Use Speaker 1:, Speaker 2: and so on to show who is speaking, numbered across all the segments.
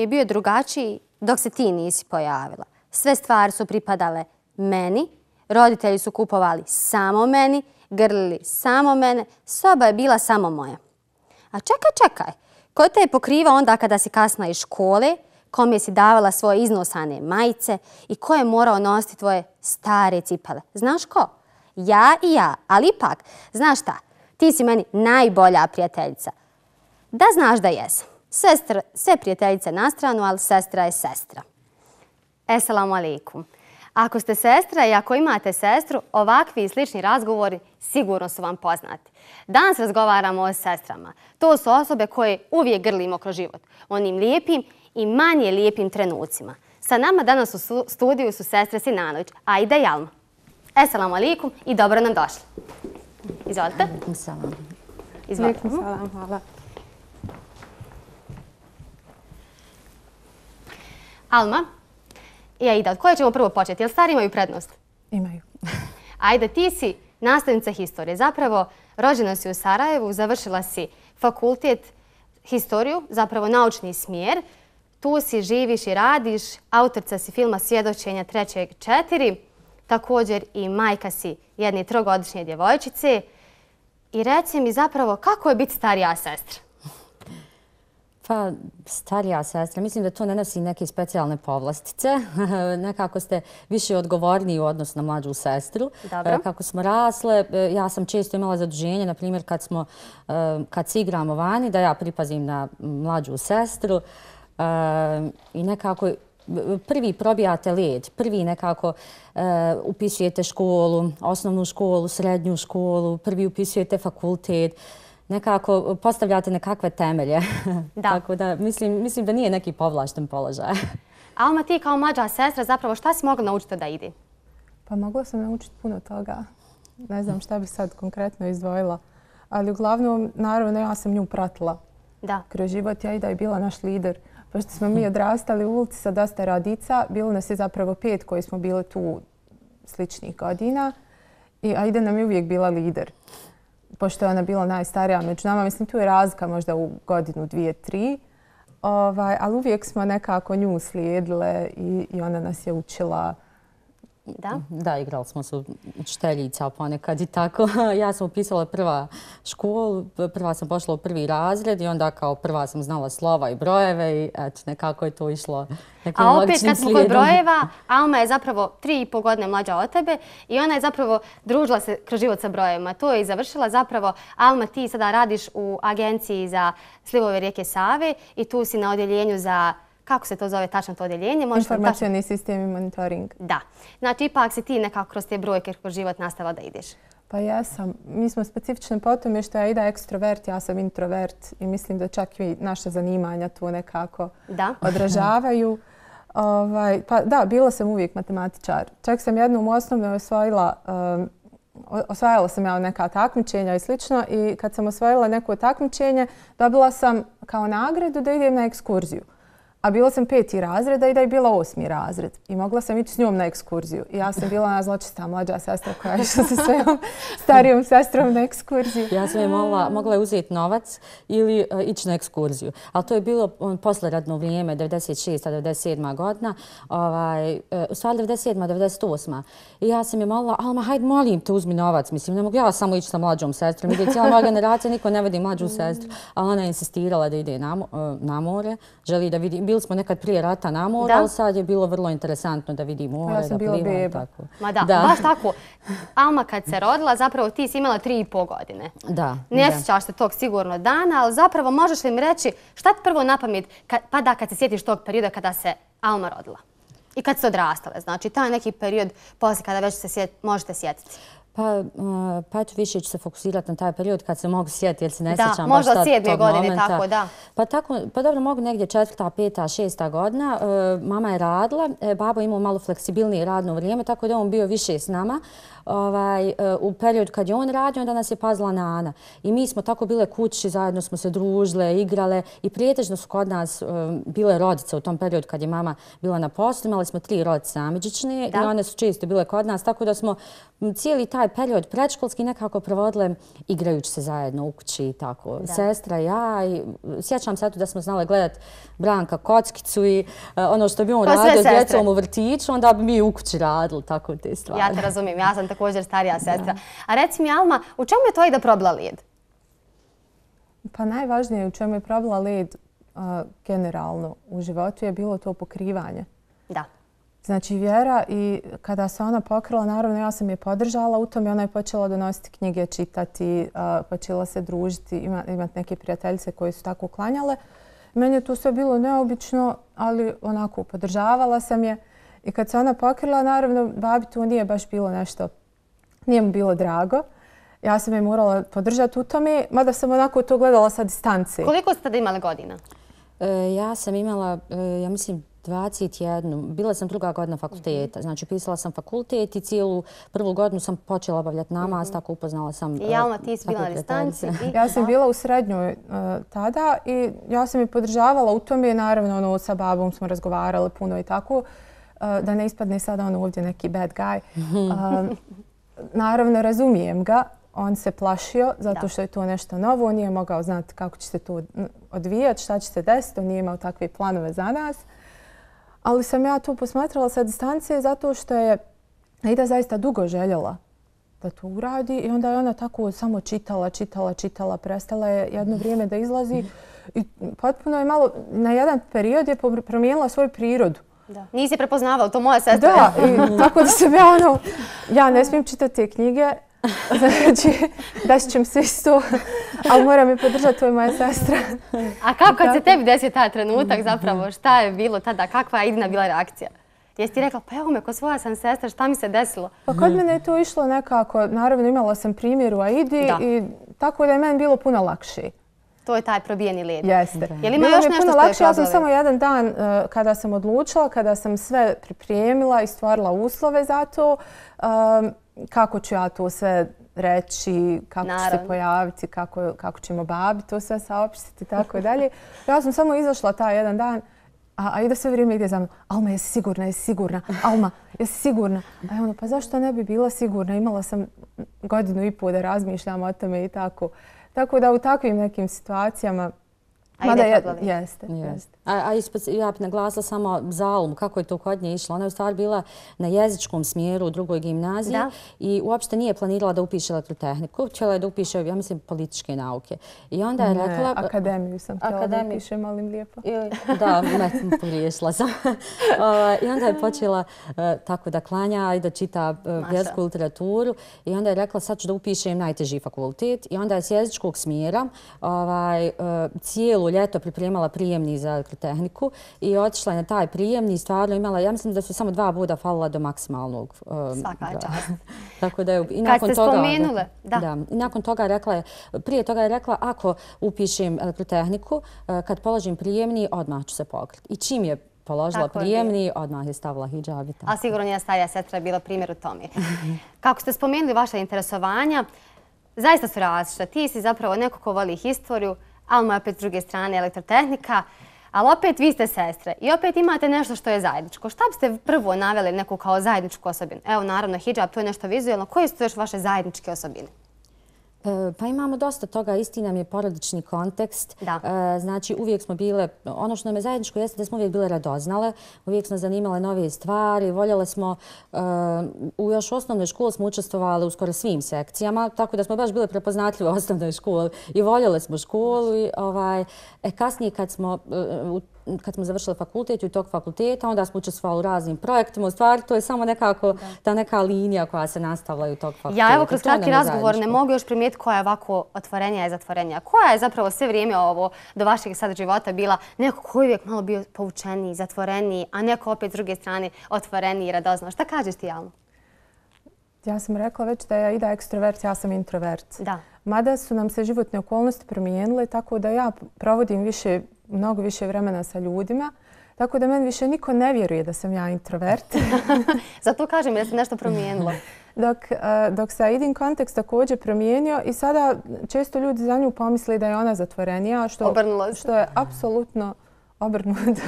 Speaker 1: je bio drugačiji dok se ti nisi pojavila. Sve stvari su pripadale meni, roditelji su kupovali samo meni, grlili samo mene, soba je bila samo moja. A čekaj, ko te je pokrivao onda kada si kasna iz škole, kome si davala svoje iznosane majice i ko je morao nositi tvoje stare cipele? Znaš ko? Ja i ja, ali ipak, znaš šta, ti si meni najbolja prijateljica. Da znaš da jesam. Sve prijateljice na stranu, ali sestra je sestra. Eselamu alaikum. Ako ste sestra i ako imate sestru, ovakvi i slični razgovori sigurno su vam poznati. Danas razgovaramo o sestrama. To su osobe koje uvijek grlimo kroz život. Onim lijepim i manje lijepim trenucima. Sa nama danas u studiju su sestre Sinanović, Aida i Alma. Eselamu alaikum i dobro nam došli. Izvolite. Izvolite.
Speaker 2: Salam, hvala.
Speaker 1: Alma i Aida, od koje ćemo prvo početi? Jel stari imaju prednost?
Speaker 2: Imaju.
Speaker 1: Aida, ti si nastavnica historije. Zapravo, rođena si u Sarajevu, završila si fakultet historiju, zapravo naučni smjer. Tu si, živiš i radiš, autorica si filma Svjedočenja 3.4. Također i majka si jedne 3-godišnje djevojčice. I reci mi zapravo kako je biti starija sestra?
Speaker 3: Pa, starija sestra, mislim da to ne nosi neke specijalne povlastice. Nekako ste više odgovorniji u odnosu na mlađu sestru.
Speaker 1: Dobro.
Speaker 3: Kako smo rasle, ja sam često imala zaduženje, na primjer kad se igramo vani, da ja pripazim na mlađu sestru i nekako prvi probijate led, prvi nekako upisujete školu, osnovnu školu, srednju školu, prvi upisujete fakultet. Nekako postavljate nekakve temelje.
Speaker 1: Da.
Speaker 3: Tako da mislim da nije neki povlašten položaj.
Speaker 1: Alma, ti kao mlađa sestra, zapravo šta si mogla naučiti od Aide?
Speaker 2: Pa mogla sam naučiti puno toga. Ne znam šta bi sad konkretno izdvojila. Ali uglavnom, naravno, ja sam nju pratila.
Speaker 1: Da.
Speaker 2: Kroz život Aida je bila naš lider. Pošto smo mi odrastali u ulici sa dosta radica, bilo nas je zapravo 5 koji smo bili tu sličnih godina. I Aida nam je uvijek bila lider. Pošto je ona bila najstarija među nama. Mislim, tu je razlika možda u godinu, 2, 3. Ali uvijek smo nekako nju slijedile i ona nas je učila.
Speaker 1: Da?
Speaker 3: Da, igrali smo se učiteljica ponekad i tako. Ja sam upisala prva školu, prva sam pošla u 1. razred i onda kao prva sam znala slova i brojeve i eto, nekako je to išlo nekim
Speaker 1: logičnim slijedom. A opet kad smo kod brojeva, Alma je zapravo 3,5 godine mlađa od tebe i ona je zapravo družila se kroz život sa brojevima. To je i završila zapravo. Alma, ti sada radiš u agenciji za slivove rijeke Save i tu si na odjeljenju za... Kako se to zove tačno to odjeljenje?
Speaker 2: Informacioni sistem i monitoring.
Speaker 1: Da. Znači, ipak si ti nekako kroz te brojke kroz život nastavila da ideš.
Speaker 2: Pa jesam. Mi smo specifični po tome što je Aida ekstrovert, ja sam introvert i mislim da čak i naša zanimanja tu nekako odražavaju. Pa da, bila sam uvijek matematičar. Čak sam jednom u osnovnoj osvajala sam ja neka takmičenja i slično i kad sam osvojila neko takmičenje, dobila sam kao nagradu da idem na ekskurziju. A bila sam 5. razred, a i da je bila 8. razred. I mogla sam ići s njom na ekskurziju. I ja sam bila ona zločista mlađa sestra koja je išla sa svojom starijom sestrom na ekskurziju.
Speaker 3: Ja sam je mogla uzeti novac ili ići na ekskurziju. Ali to je bilo posleradno vrijeme, 96. 97. godina. U stvari 97. 98. I ja sam je molila, Alma, hajde molim te uzmi novac. Mislim, ne mogu ja samo ići sa mlađom sestrom. Ide cijela moja generacija, niko ne vidi mlađu sestru. Ali ona je insistirala da ide na more. Želi da vidi. Bili smo nekad prije rata na moru, ali sad je bilo vrlo interesantno da vidi more,
Speaker 2: ja sam bila beba.
Speaker 1: Ma da, baš tako. Alma kad se rodila, zapravo ti si imala 3,5 godine.
Speaker 3: Da.
Speaker 1: Ne sjećaš se tog sigurno dana, ali zapravo možeš li mi reći šta ti prvo na pamet pada kad se sjetiš tog perioda kada se Alma rodila? I kad se odrastale, znači taj neki period poslije kada već se možete sjetiti.
Speaker 3: Pa eto više ću se fokusirati na taj period kad se mogu sjetiti jer se ne sjećam baš tog
Speaker 1: momenta.
Speaker 3: Da,
Speaker 1: možda 7. godine, tako da.
Speaker 3: Pa dobro, mogu negdje 4., 5., 6. godina. Mama je radila, babo imao malo fleksibilnije radno vrijeme, tako da on bio više s nama. U period kad je on radio, onda nas je pazila Nana. I mi smo tako bile kući, zajedno smo se družile, igrale i prijetežno su kod nas bile rodice u tom periodu kad je mama bila na poslu. Imali smo 3 rodice amidžične i one su često bile kod nas, tako da smo cijeli taj taj period predškolski nekako provodile igrajući se zajedno u kući i tako. Sestra, ja i sjećam se da smo znali gledati Branka Kockicu i ono što bi on radio s djecom u vrtiću, onda bi mi u kući radili tako te stvari.
Speaker 1: Ja te razumijem, ja sam također starija sestra. A reci mi, Alma, u čemu je to i da probila led?
Speaker 2: Pa najvažnije u čemu je probila led generalno u životu je bilo to pokrivanje.
Speaker 1: Da.
Speaker 2: Znači Vjera i kada se ona pokrila, naravno ja sam je podržala u tom i ona je počela donositi knjige, čitati, počela se družiti, imati neke prijateljice koje su tako klanjale. Meni je to sve bilo neobično, ali onako podržavala sam je. I kad se ona pokrila, naravno babi tu nije baš bilo nešto, nije mu bilo drago. Ja sam je morala podržati u tome, mada sam onako to gledala sa distance.
Speaker 1: Koliko ste tada imali godina?
Speaker 3: Ja sam imala, ja mislim, 21. Bila sam druga godina fakulteta. Znači, pisala sam fakultet i cijelu prvu godinu sam počela obavljati namaz, tako upoznala sam...
Speaker 1: I Alma, ti si bila na distanci?
Speaker 2: Ja sam bila u srednjoj tada i ja sam je podržavala u tome. Naravno, sa babom smo razgovarali puno i tako. Da ne ispadne sada on ovdje neki bad guy. Naravno, razumijem ga. On se plašio zato što je to nešto novo. On nije mogao znati kako će se to odvijati, šta će se desiti. On nije imao takve planove za nas. Ali sam ja to posmatrala sa distance zato što je Aida zaista dugo željela da to uradi i onda je ona tako samo čitala, prestala je jedno vrijeme da izlazi i potpuno je malo, na jedan period je promijenila svoju prirodu.
Speaker 1: Da. Nisi prepoznavala, to moja sestra.
Speaker 2: Da, i tako da sam ja ne smijem čitati te knjige, znači desit će mi se isto, ali moram je podržati, to je moja sestra.
Speaker 1: A kako kad se tebi desio taj trenutak zapravo, šta je bilo tada, kakva je Idina bila reakcija? Jesi ti rekla, pa evo me, ko svoja sam sestra, šta mi se desilo?
Speaker 2: Pa kod mene je to išlo nekako, naravno imala sam primjer u Aidi i tako da je meni bilo puno lakše.
Speaker 1: To je taj probijeni led.
Speaker 2: Jeste.
Speaker 1: Je li ima još nešto što je
Speaker 2: lakše? Ja sam samo jedan dan kada sam odlučila, kada sam sve pripremila i stvorila uslove za to, kako ću ja to sve reći, kako ću se pojaviti, kako ćemo babi to sve saopštiti i tako dalje. Ja sam samo izašla taj jedan dan, a Aida sve vrijeme ide za mnom. Alma, jesi sigurna? Alma, jesi sigurna? A ja pa zašto ne bi bila sigurna? Imala sam 1.5 godina da razmišljam o tome i tako. Tako da u takvim nekim situacijama... Jeste.
Speaker 3: Ja bih naglasila samo za Almu, kako je to kod nje išlo. Ona je u stvari bila na jezičkom smjeru u drugoj gimnaziji i uopšte nije planirala da upiše elektrotehniku. Htjela je da upiše, ja mislim, političke nauke. I onda je rekla...
Speaker 2: Akademiju sam htjela da upiše, molim lijepo.
Speaker 3: Da, pogriješila sam. I onda je počela tako da klanja i da čita vjersku literaturu. I onda je rekla, sad ću da upišem najteži fakultet. I onda je s jezičkog smjera cijelu ljeto pripremala prijemni za elektrotehniku i otišla je na taj prijemni i stvarno imala, ja mislim da su samo 2 boda falila do maksimalnog.
Speaker 1: Svaka čast.
Speaker 3: Tako da je,
Speaker 1: kad ste spomenule.
Speaker 3: Da. I nakon toga rekla je, prije toga je rekla, ako upišem elektrotehniku, kad položim prijemni, odmah ću se pokriti. I čim je položila prijemni, odmah je stavila hidžab.
Speaker 1: A sigurno njena starija sestra je bila primjer u tome. Kako ste spomenuli vaše interesovanja, zaista su različita. Ti si zapravo neko ko voli historiju, Alma je opet s druge strane elektrotehnika, ali opet vi ste sestre i opet imate nešto što je zajedničko. Šta biste prvo naveli neku kao zajedničku osobinu? Evo, naravno, hidžab, to je nešto vizualno. Koje su još vaše zajedničke osobine?
Speaker 3: Pa imamo dosta toga, isti nam je porodični kontekst. Znači uvijek smo bile, ono što nam je zajedničko jeste da smo uvijek bile radoznale, uvijek smo zanimale nove stvari, voljele smo, u još osnovnoj školi smo učestvovali u skoro svim sekcijama, tako da smo baš bile prepoznatljive u osnovnoj školi i voljele smo školu. Kasnije kad smo završili fakultet i u tog fakulteta, onda smo učestvovali u raznim projektima. U stvari, to je samo nekako ta neka linija koja se nastavlja u tog fakulteta.
Speaker 1: Ja evo kroz kratki razgovor ne mogu još primijetiti koja je ovako otvorenija i zatvorenija. Koja je zapravo sve vrijeme ovo do vašeg sad života bila neko koji je uvijek malo bio povučeniji, zatvoreniji, a neko opet s druge strane otvoreniji i radoznao. Šta kažeš ti, Alma?
Speaker 2: Ja sam rekla već da je Aida ekstrovert, ja sam introvert.
Speaker 1: Da.
Speaker 2: Mada su nam se životne okolnosti promijenile, tako da ja provodim mnogo više vremena sa ljudima, tako da meni više niko ne vjeruje da sam ja introvert.
Speaker 1: Zato kažem da se nešto promijenilo.
Speaker 2: Dok se Aidin kontekst također promijenio i sada često ljudi za nju pomisli da je ona zatvorenija, što je apsolutno obrnuto.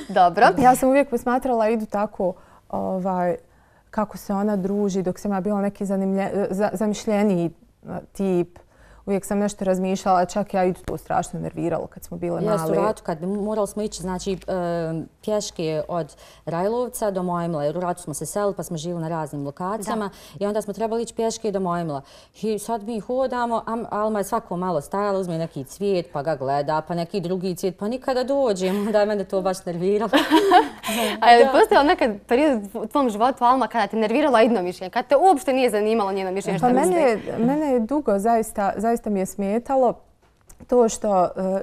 Speaker 1: Dobro.
Speaker 2: Ja sam uvijek posmatrala Aidu tako kako se ona druži dok sam ja bila neki zamišljeniji tip. Uvijek sam nešto razmišljala, čak ja i to strašno nerviralo kad smo bile male.
Speaker 3: Jesu, ratu, kad morali smo ići, znači, pješke od Rajlovca do Mojmila, jer u ratu smo se selili pa smo živjeli na raznim lokacijama i onda smo trebali ići pješke do Mojmila. I sad mi hodamo, Alma je svako malo stajala, uzme neki cvijet pa ga gleda, pa neki drugi cvijet, pa nikada dođemo, da je mene to baš nerviralo.
Speaker 1: A je li postojao nekad period u tvom životu, Alma, kada te nervirala jedno mišljenje, kada te uopšte nije zanimalo njeno mišljenje što misli?
Speaker 2: Mene je dugo zaista mi je smetalo to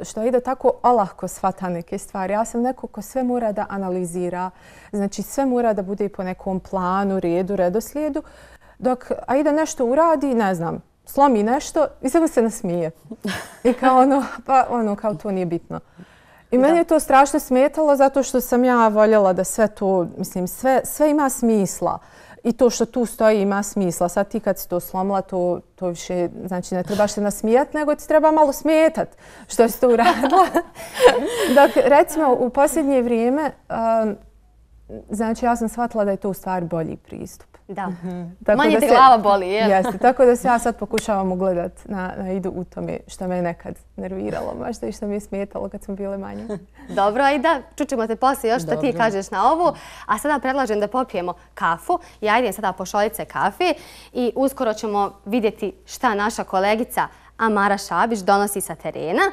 Speaker 2: što ide tako olahko shvata neke stvari. Ja sam neko ko sve mora da analizira, znači sve mora da bude po nekom planu, redu, redoslijedu, dok Aida nešto uradi, ne znam, slomi nešto i samo se nasmije. I kao to nije bitno. I meni je to strašno smetalo zato što sam ja voljela da sve to, mislim, sve ima smisla. I to što tu stoji ima smisla. Sad ti kad si to slomila, to više, znači ne trebaš se nasmijati, nego ti treba malo smetati što si to uradila. Dok, recimo, u posljednje vrijeme, znači ja sam shvatila da je to u stvari bolji pristup.
Speaker 1: Da. Manje te glava boli, jel?
Speaker 2: Jeste, tako da se ja sad pokušavam ugledat na Aidu u tome što me nekad nerviralo, možda i što mi je smetalo kad smo bile manje.
Speaker 1: Dobro, Aida, čućemo te poslije još što ti kažeš na ovu. A sada predlažem da popijemo kafu. Ja idem sada po šoljice kafe i uskoro ćemo vidjeti šta naša kolegica Amara Šabić donosi sa terena.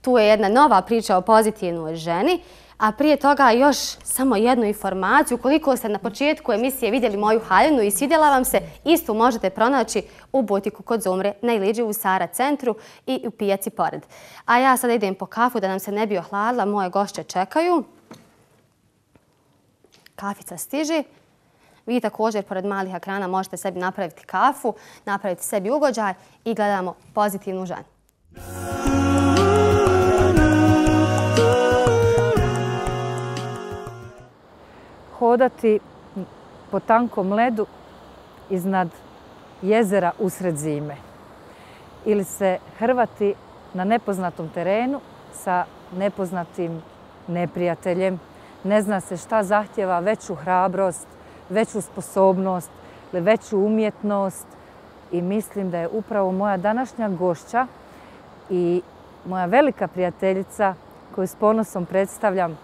Speaker 1: Tu je jedna nova priča o pozitivnoj ženi. A prije toga još samo jednu informaciju. Ukoliko ste na početku emisije vidjeli moju haljinu i svidjela vam se, istu možete pronaći u butiku kod Zumre na Iliđi u Sara centru i u pijaci pored. A ja sada idem po kafu da nam se ne bi ohladila. Moje gošće čekaju. Kafica stiži. Vi također pored malih ekrana možete sebi napraviti kafu, napraviti sebi ugođaj i gledamo pozitivnu ženu.
Speaker 4: Hodati po tankom ledu iznad jezera usred zime ili se hrvati na nepoznatom terenu sa nepoznatim neprijateljem. Ne zna se šta zahtjeva veću hrabrost, veću sposobnost ili veću umjetnost i mislim da je upravo moja današnja gošća i moja velika prijateljica koju s ponosom predstavljam,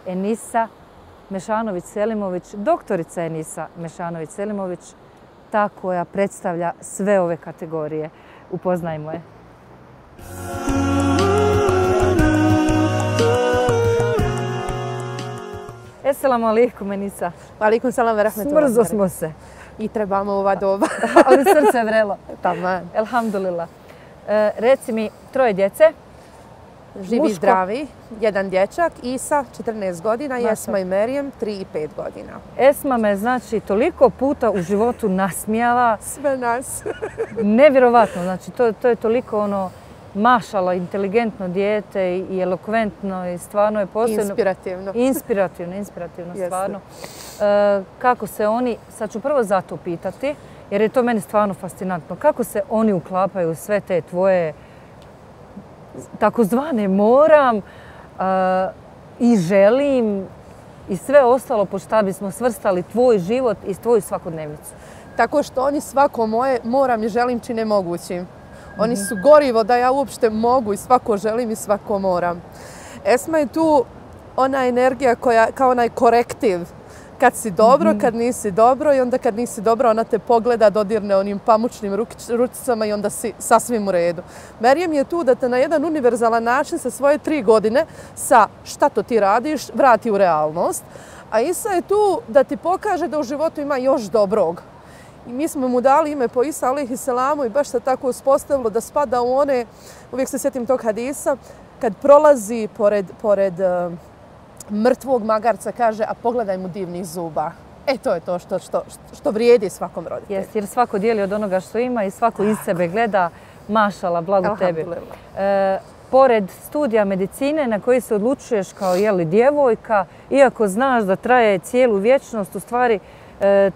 Speaker 4: Enisa Mešanović-Selimović, doktorica Enisa Mešanović-Selimović, ta koja predstavlja sve ove kategorije. Upoznajmo je. Esselamu alaikum, Enisa.
Speaker 5: Alaikum salam ve rahmetullahi.
Speaker 4: Smrzo smo se.
Speaker 5: I trebamo ova doba.
Speaker 4: Ali srce je vrelo.
Speaker 5: Taman.
Speaker 4: Elhamdulillah. Reci mi, 3 djece.
Speaker 5: Živi i zdravi. Jedan dječak, Isa, 14 godina, i Esma i Merijem, 3 i 5 godina.
Speaker 4: Esma me, znači, toliko puta u životu nasmijala.
Speaker 5: Sve nas.
Speaker 4: Nevjerovatno, znači, to je toliko mašala, inteligentno dijete i elokventno i stvarno je posebno... Inspirativno, stvarno. Kako se oni, sad ću prvo zato pitati, jer je to meni stvarno fascinantno, kako se oni uklapaju u sve te tvoje takozvane moram i želim i sve ostalo po šta bismo svrstali tvoj život i tvoju svakodnevnicu?
Speaker 5: Tako što oni svako moje moram i želim čine mogućim. Oni su gorivo da ja uopšte mogu i svako želim i svako moram. Esma je tu ona energija koja kao onaj korektiv. Kad si dobro, kad nisi dobro i onda kad nisi dobro ona te pogleda, dodirne onim pamučnim ručicama i onda si sasvim u redu. Merijem je tu da te na jedan univerzalan način sa svoje 3 godine sa šta to ti radiš vrati u realnost. A Isa je tu da ti pokaže da u životu ima još dobrog. I mi smo mu dali ime po Isa alejhi selamu i baš se tako uspostavilo da spada u one, uvijek se sjetim tog hadisa, kad prolazi pored mrtvog magarca, kaže, a pogledaj mu divnih zuba. To je to što vrijedi svakom roditelju.
Speaker 4: Jeste, jer svako dijeli od onoga što ima i svako iz sebe gleda, mašala, blago tebi. Pored studija medicine na koji se odlučuješ kao djevojka, iako znaš da traje cijelu vječnost, u stvari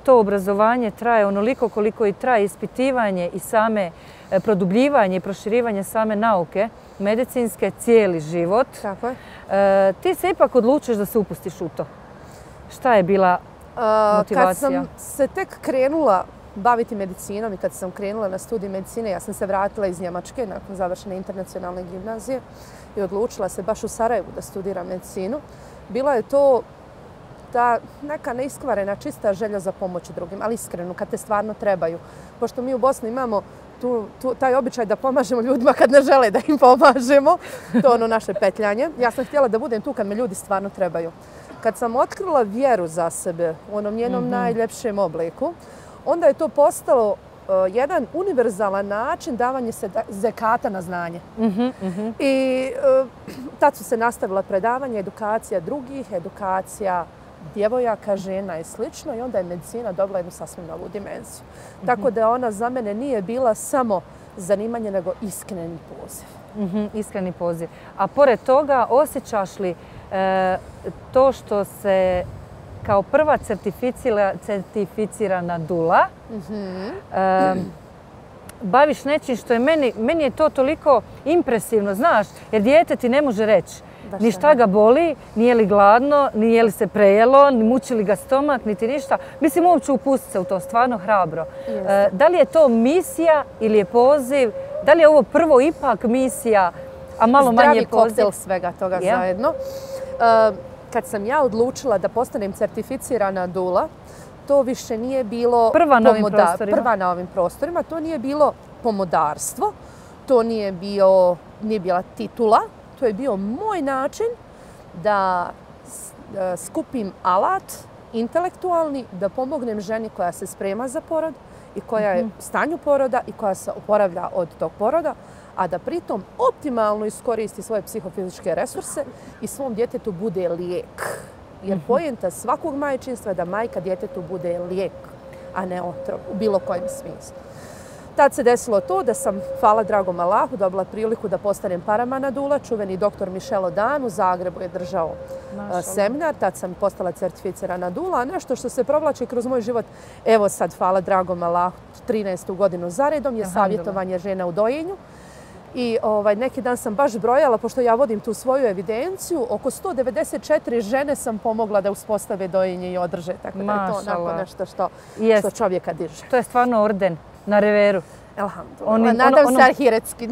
Speaker 4: to obrazovanje traje onoliko koliko i traje ispitivanje i same produbljivanje i proširivanje same nauke medicinske cijeli život.
Speaker 5: Tako je.
Speaker 4: Ti se ipak odlučiš da se upustiš u to. Šta je bila motivacija?
Speaker 5: Kad sam se tek krenula baviti medicinom i kad sam krenula na studij medicine, ja sam se vratila iz Njemačke nakon završene internacionalne gimnazije i odlučila se baš u Sarajevu da studiram medicinu. Bila je to ta neka neiskvarena, čista želja za pomoć drugim, ali iskreno, kad te stvarno trebaju. Pošto mi u Bosni imamo taj običaj da pomažemo ljudima kad ne žele da im pomažemo. To je ono naše petljanje. Ja sam htjela da budem tu kad me ljudi stvarno trebaju. Kad sam otkrila vjeru za sebe u onom njenom najljepšem obliku, onda je to postalo jedan univerzalan način davanja se zekata na znanje. I tad su se nastavila predavanja, edukacija drugih, edukacija djevojaka, žena i slično i onda je medicina dobila jednu sasvim novu dimenziju. Tako da ona za mene nije bila samo zanimanje, nego iskreni poziv.
Speaker 4: Iskreni poziv. A pored toga, osjećaš li to što se kao prva certificirana dula baviš nečim što je meni je to toliko impresivno, znaš, jer dijete ti ne može reći ni šta ga boli, nije li gladno, nije li se prejelo, ni muči li ga stomak, niti ništa. Mislim, uopće upustiti se u to, stvarno hrabro. Da li je to misija ili je poziv? Da li je ovo prvo ipak misija, a malo manje poziv?
Speaker 5: Zdravi koktel svega toga zajedno. Kad sam ja odlučila da postanem certificirana dula, to više nije bilo
Speaker 4: prva na
Speaker 5: ovim prostorima. To nije bilo pomodarstvo, to nije bila titula. To je bio moj način da skupim alat intelektualni, da pomognem ženi koja se sprema za porod i koja je u stanju poroda i koja se oporavlja od tog poroda, a da pritom optimalno iskoristi svoje psihofizičke resurse i svom djetetu bude lijek. Jer poenta svakog majčinstva je da majka djetetu bude lijek, a ne otrov u bilo kojem smislu. Tad se desilo to da sam, hvala dragom Allahu, dobila priliku da postanem paramana dula. Čuveni doktor Michel Odan u Zagrebu je držao seminar. Tad sam postala certificirana dula. A nešto što se provlači kroz moj život, evo sad, hvala dragom Allahu, 13. godinu zaredom je savjetovanje žena u dojenju. I neki dan sam baš brojala, pošto ja vodim tu svoju evidenciju, oko 194 žene sam pomogla da uspostave dojenje i održe. Tako da je to onako nešto što čovjeka diže.
Speaker 4: To je stvarno orden na reveru.
Speaker 5: Alhamdulillah. Nadam se ahiretski.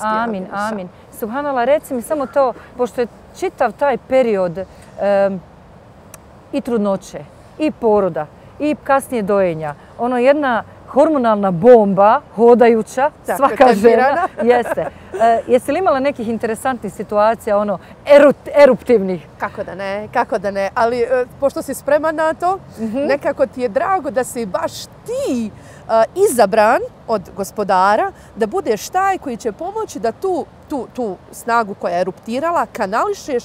Speaker 4: Amin, amin. Subhanallah, reci mi samo to, pošto je čitav taj period i trudnoće, i poroda, i kasnije dojenja, ono jedna hormonalna bomba, hodajuća, svaka žena. Jeste. Jesi li imala nekih interesantnih situacija, eruptivnih?
Speaker 5: Kako da ne. Ali pošto si spreman na to, nekako ti je drago da si baš ti izabran od gospodara, da budeš taj koji će pomoći da tu snagu koja je eruptirala kanališeš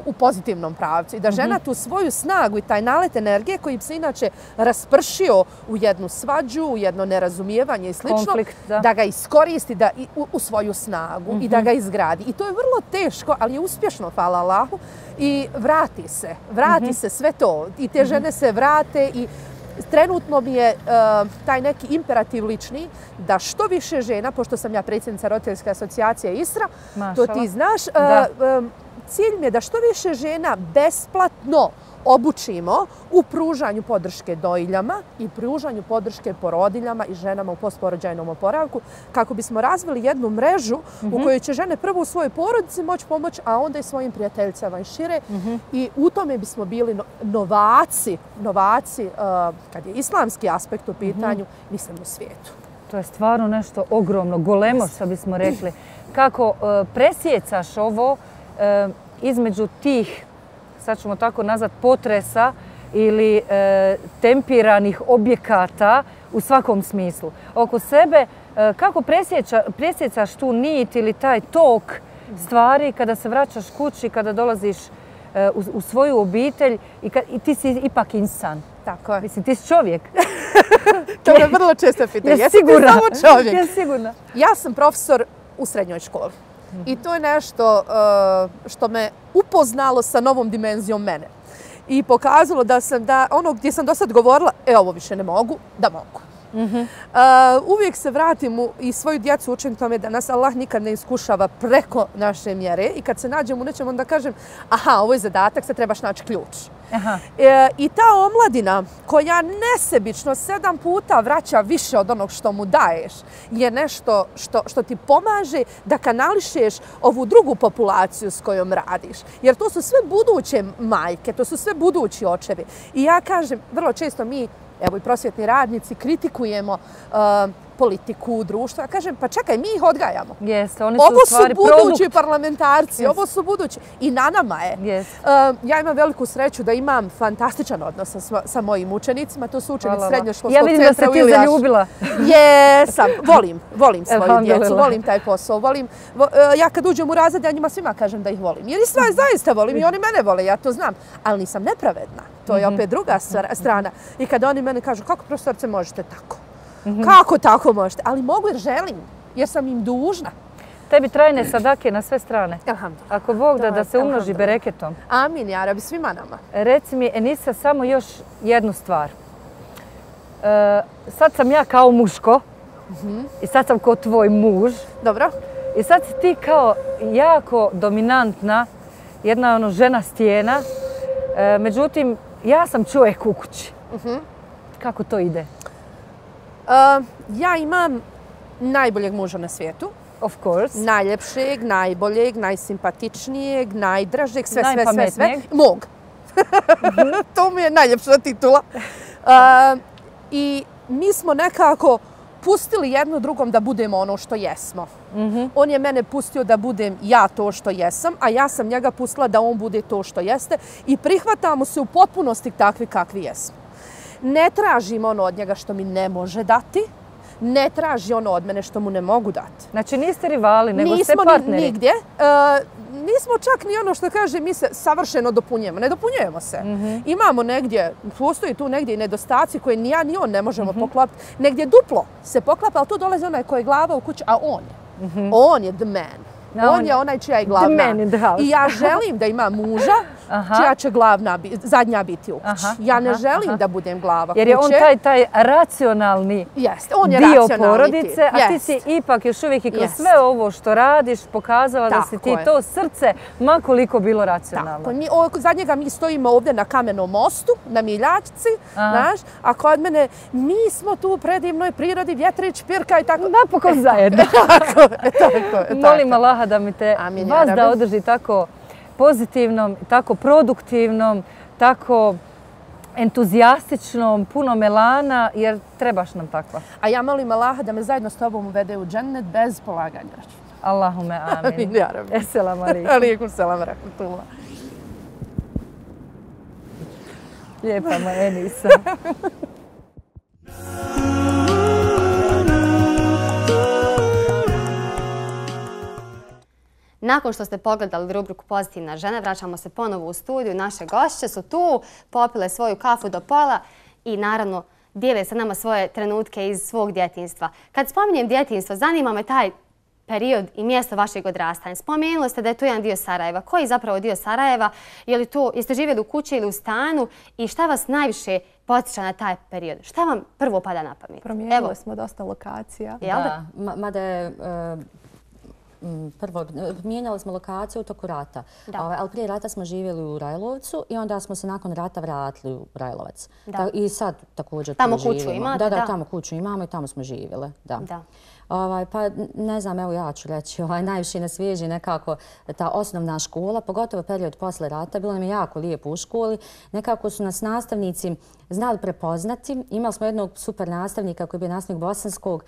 Speaker 5: u pozitivnom pravcu i da žena tu svoju snagu i taj nalet energije koji bi se inače raspršio u jednu svađu, u jedno nerazumijevanje i slično, da ga iskoristi u svoju snagu i da ga izgradi. I to je vrlo teško, ali je uspješno, hvala Allahu, i vrati se sve to. I te žene se vrate i trenutno mi je taj neki imperativ lični da što više žena, pošto sam ja predsjednica Roditeljske asocijacije Isra, to ti znaš, cilj mi je da što više žena besplatno obučimo u pružanju podrške dojiljama i pružanju podrške porodiljama i ženama u postporođajnom oporavku, kako bismo razvili jednu mrežu u kojoj će žene prvo u svojoj porodici moći pomoći, a onda i svojim prijateljicama i šire. I u tome bismo bili novaci kad je islamski aspekt u pitanju, mislim, u svijetu.
Speaker 4: To je stvarno nešto ogromno, golemo, što bismo rekli. Kako presjecaš ovo između tih, sad ćemo tako nazvat, potresa ili tempiranih objekata u svakom smislu. Oko sebe, kako presjecaš tu nit ili taj tok stvari kada se vraćaš kući, kada dolaziš u svoju obitelj i ti si ipak insan.
Speaker 5: Tako je.
Speaker 4: Mislim, ti si čovjek.
Speaker 5: To me vrlo često pitaju.
Speaker 4: Jesi ti
Speaker 5: samo čovjek?
Speaker 4: Jesi sigurna?
Speaker 5: Ja sam profesor u srednjoj školi. I to je nešto što me upoznalo sa novom dimenzijom mene. I pokazalo da ono gdje sam do sad govorila, ovo više ne mogu, da mogu. Uvijek se vratim i svoju djecu učim tome da nas Allah nikad ne iskušava preko naše mjere i kad se nađem u nečem onda kažem aha, ovo je zadatak, sad trebaš naći ključ. I ta omladina koja nesebično 7 puta vraća više od onog što mu daješ je nešto što ti pomaže da kanališeš ovu drugu populaciju s kojom radiš. Jer to su sve buduće majke, to su sve budući očevi. I ja kažem, vrlo često mi, evo i prosvjetni radnici, kritikujemo politiku, društva. Kažem, pa čekaj, mi ih odgajamo.
Speaker 4: Jeste, oni su
Speaker 5: ovo
Speaker 4: u stvari
Speaker 5: su budući
Speaker 4: produkt.
Speaker 5: parlamentarci, ovo su budući. I na nama je. Ja imam veliku sreću da imam fantastičan odnos sa mojim učenicima. To su učenici srednjoškolskog centra u Ilijašu.
Speaker 4: Ja vidim da se ti zaljubila.
Speaker 5: Jesam. Volim svoju djecu, volim taj posao. Ja kad uđem u razred, ja njima svima kažem da ih volim. Jer i zaista volim i oni mene vole, ja to znam. Ali nisam nepravedna. To je opet druga strana. I kad oni mene kažu, kako profesorice možete tako? Kako tako možete? Ali mogu jer želim, jer sam im dužna.
Speaker 4: Tebi trajne sadake na sve strane. Ako Bog da se umnoži bereketom.
Speaker 5: Amin, ja rabi svima nama.
Speaker 4: Reci mi, Enisa, samo još jednu stvar. Sad sam ja kao muško i sad sam kao tvoj muž.
Speaker 5: Dobro.
Speaker 4: I sad si ti kao jako dominantna, jedna žena stijena. Međutim, ja sam čovjek u kući. Kako to ide?
Speaker 5: Ja imam najboljeg muža na svijetu.
Speaker 4: Of course.
Speaker 5: Najljepšeg, najboljeg, najsimpatičnijeg, najdražeg, sve. Mog. To mi je najljepša titula. I mi smo nekako pustili jedno drugom da budemo ono što jesmo. On je mene pustio da budem ja to što jesam, a ja sam njega pustila da on bude to što jeste i prihvatamo se u potpunosti takvi kakvi jesmo. Ne tražim ono od njega što mi ne može dati, ne traži ono od mene što mu ne mogu dati.
Speaker 4: Znači niste rivali, nego ste partneri.
Speaker 5: Nismo nigdje. Nismo čak ni ono što kaže mi se savršeno dopunjujemo. Ne dopunjujemo se. Imamo negdje, postoji tu negdje i nedostaci koje ni ja ni on ne možemo poklopiti. Negdje duplo se poklapa, ali tu dolazi onaj koji je glava u kući, a on je. On je the man. On je onaj čija je glavna. I ja želim da imam muža čija će zadnja biti u kući. Ja ne želim da budem glava kuće.
Speaker 4: Jer je on taj racionalni dio porodice, a ti si ipak još uvijek i kroz sve ovo što radiš pokazala da si ti to srce makoliko bilo racionalno.
Speaker 5: Za njega mi stojimo ovdje na Kamenom mostu, na Miljačci, a kod mene mi smo tu u predivnoj prirodi, vjetrić, pirka i tako.
Speaker 4: Napokon zajedno. Molim Allaha da mi te vas da održi tako pozitivnom, tako produktivnom, tako entuzijastičnom, puno melana, jer trebaš nam takva.
Speaker 5: A ja molim Allaha da me zajedno s tobom uvede u džennet bez polaganja računa.
Speaker 4: Allahume amin. Esselamu alaikum.
Speaker 5: Alaikum selam rahmatullah.
Speaker 4: Lijepa moja Enisa.
Speaker 1: Nakon što ste pogledali rubriku Pozitivna žena, vraćamo se ponovo u studiju. Naše gošće su tu, popile svoju kafu do pola i naravno dijele sa nama svoje trenutke iz svog djetinjstva. Kad spominjem djetinjstvo, zanima me taj period i mjesto vašeg odrastanja. Spomenuli ste da je to jedan dio Sarajeva. Koji je zapravo dio Sarajeva? Jeste živjeli u kući ili u stanu? I šta vas najviše podsjeća na taj period? Šta vam prvo pada na pamet?
Speaker 2: Promijenili smo dosta lokacija.
Speaker 3: Da, mada je... Prvo, mijenjali smo lokaciju u toku rata, ali prije rata smo živjeli u Rajlovcu i onda smo se nakon rata vratili u Rajlovac. I sad također tu živimo.
Speaker 1: Tamo kuću imate?
Speaker 3: Da, tamo kuću imamo i tamo smo živjeli. Pa ne znam, evo ja ću reći, najviše nas veže nekako ta osnovna škola, pogotovo period posle rata. Bilo nam je jako lijepo u školi. Nekako su nas nastavnici znali prepoznati. Imali smo jednog super nastavnika koji je bio nastavnik bosanskog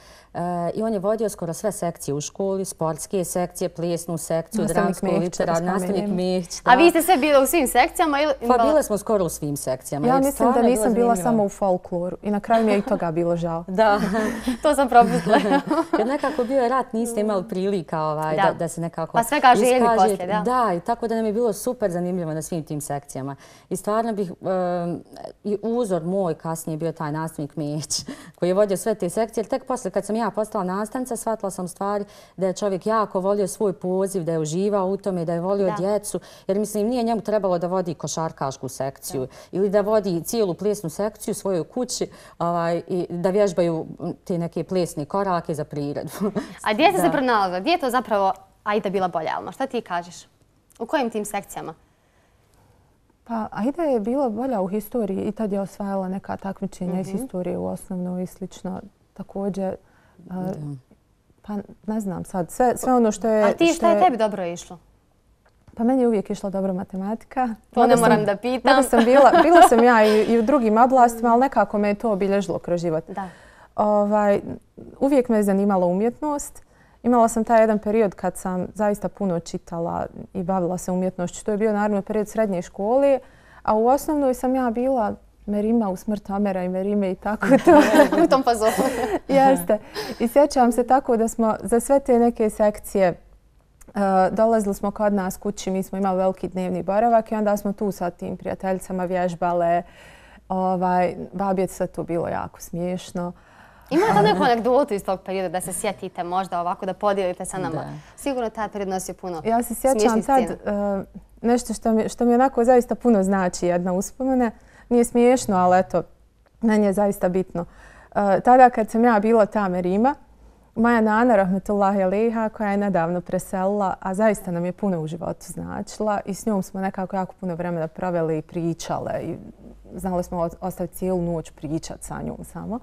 Speaker 3: i on je vodio skoro sve sekcije u školi, sportske sekcije, plesnu sekciju, dramsku, literar, nastavnik Mihić.
Speaker 1: A vi ste sve bili u svim sekcijama?
Speaker 3: Pa bile smo skoro u svim sekcijama.
Speaker 2: Ja mislim da nisam bila samo u folkloru i na kraju mi je i toga bilo žao.
Speaker 1: Da, to sam propustila.
Speaker 3: Jer nekako bio je rat, niste imali prilika da se nekako
Speaker 1: pa svega željeli poslije, da.
Speaker 3: Da, i tako da nam je bilo super zanimljivo na svim tim sekcijama. I stvarno bih, i uzor moj kasnije bio taj nastavnik Mihić, koji je vodio sve te sekcije. Tek posle kad sam ja postala nastavnica, shvatila sam stvari da je čovjek jako volio svoj poziv, da je uživao u tome, da je volio djecu. Jer mislim, nije njemu trebalo da vodi košarkašku sekciju ili da vodi cijelu plesnu sekciju u svojoj kući i da vježbaju te neke plesne korake za priredbu.
Speaker 1: A gdje ste se pronalazila? Gdje je to zapravo Aida bila bolja, Alma? Šta ti kažeš? U kojim tim sekcijama?
Speaker 2: Pa Aida je bila bolja u historiji i tad je osvajala neka takmičenja iz historije u osnovnoj i slično. Također, pa ne znam sad, sve ono što je...
Speaker 1: A ti šta je tebi dobro išlo?
Speaker 2: Pa meni je uvijek išla dobra matematika.
Speaker 1: To ne moram da pitam.
Speaker 2: Bila sam ja i u drugim oblastima, ali nekako me je to obilježilo kroz život. Uvijek me je zanimala umjetnost. Imala sam taj jedan period kad sam zaista puno čitala i bavila se umjetnošću. To je bio naravno period srednje škole, a u osnovnoj sam ja bila Merima u Smrt Amera i Merime i tako to.
Speaker 1: U tom fazonu.
Speaker 2: Jeste. I sjećam se tako da smo za sve te neke sekcije dolazili smo kod nas kući, mi smo imali veliki dnevni boravak i onda smo tu sa tim prijateljicama vježbale. Babi je sve to bilo jako smiješno.
Speaker 1: Imate li neku anegdotu iz tog perioda da se sjetite možda ovako, da podijelite sa nama? Sigurno taj period nosi puno smiješnih scena.
Speaker 2: Ja se sjećam sad nešto što mi onako zaista puno znači, jedna uspomene. Nije smiješno, ali eto, meni je zaista bitno. Tada kad sam ja bila ta Merima, moja nana, rahmetullahi alejha, koja je nedavno preselila, a zaista nam je puno u životu značila i s njom smo nekako jako puno vremena proveli i pričale. I znali smo ostaviti cijelu noć pričati sa njom samo.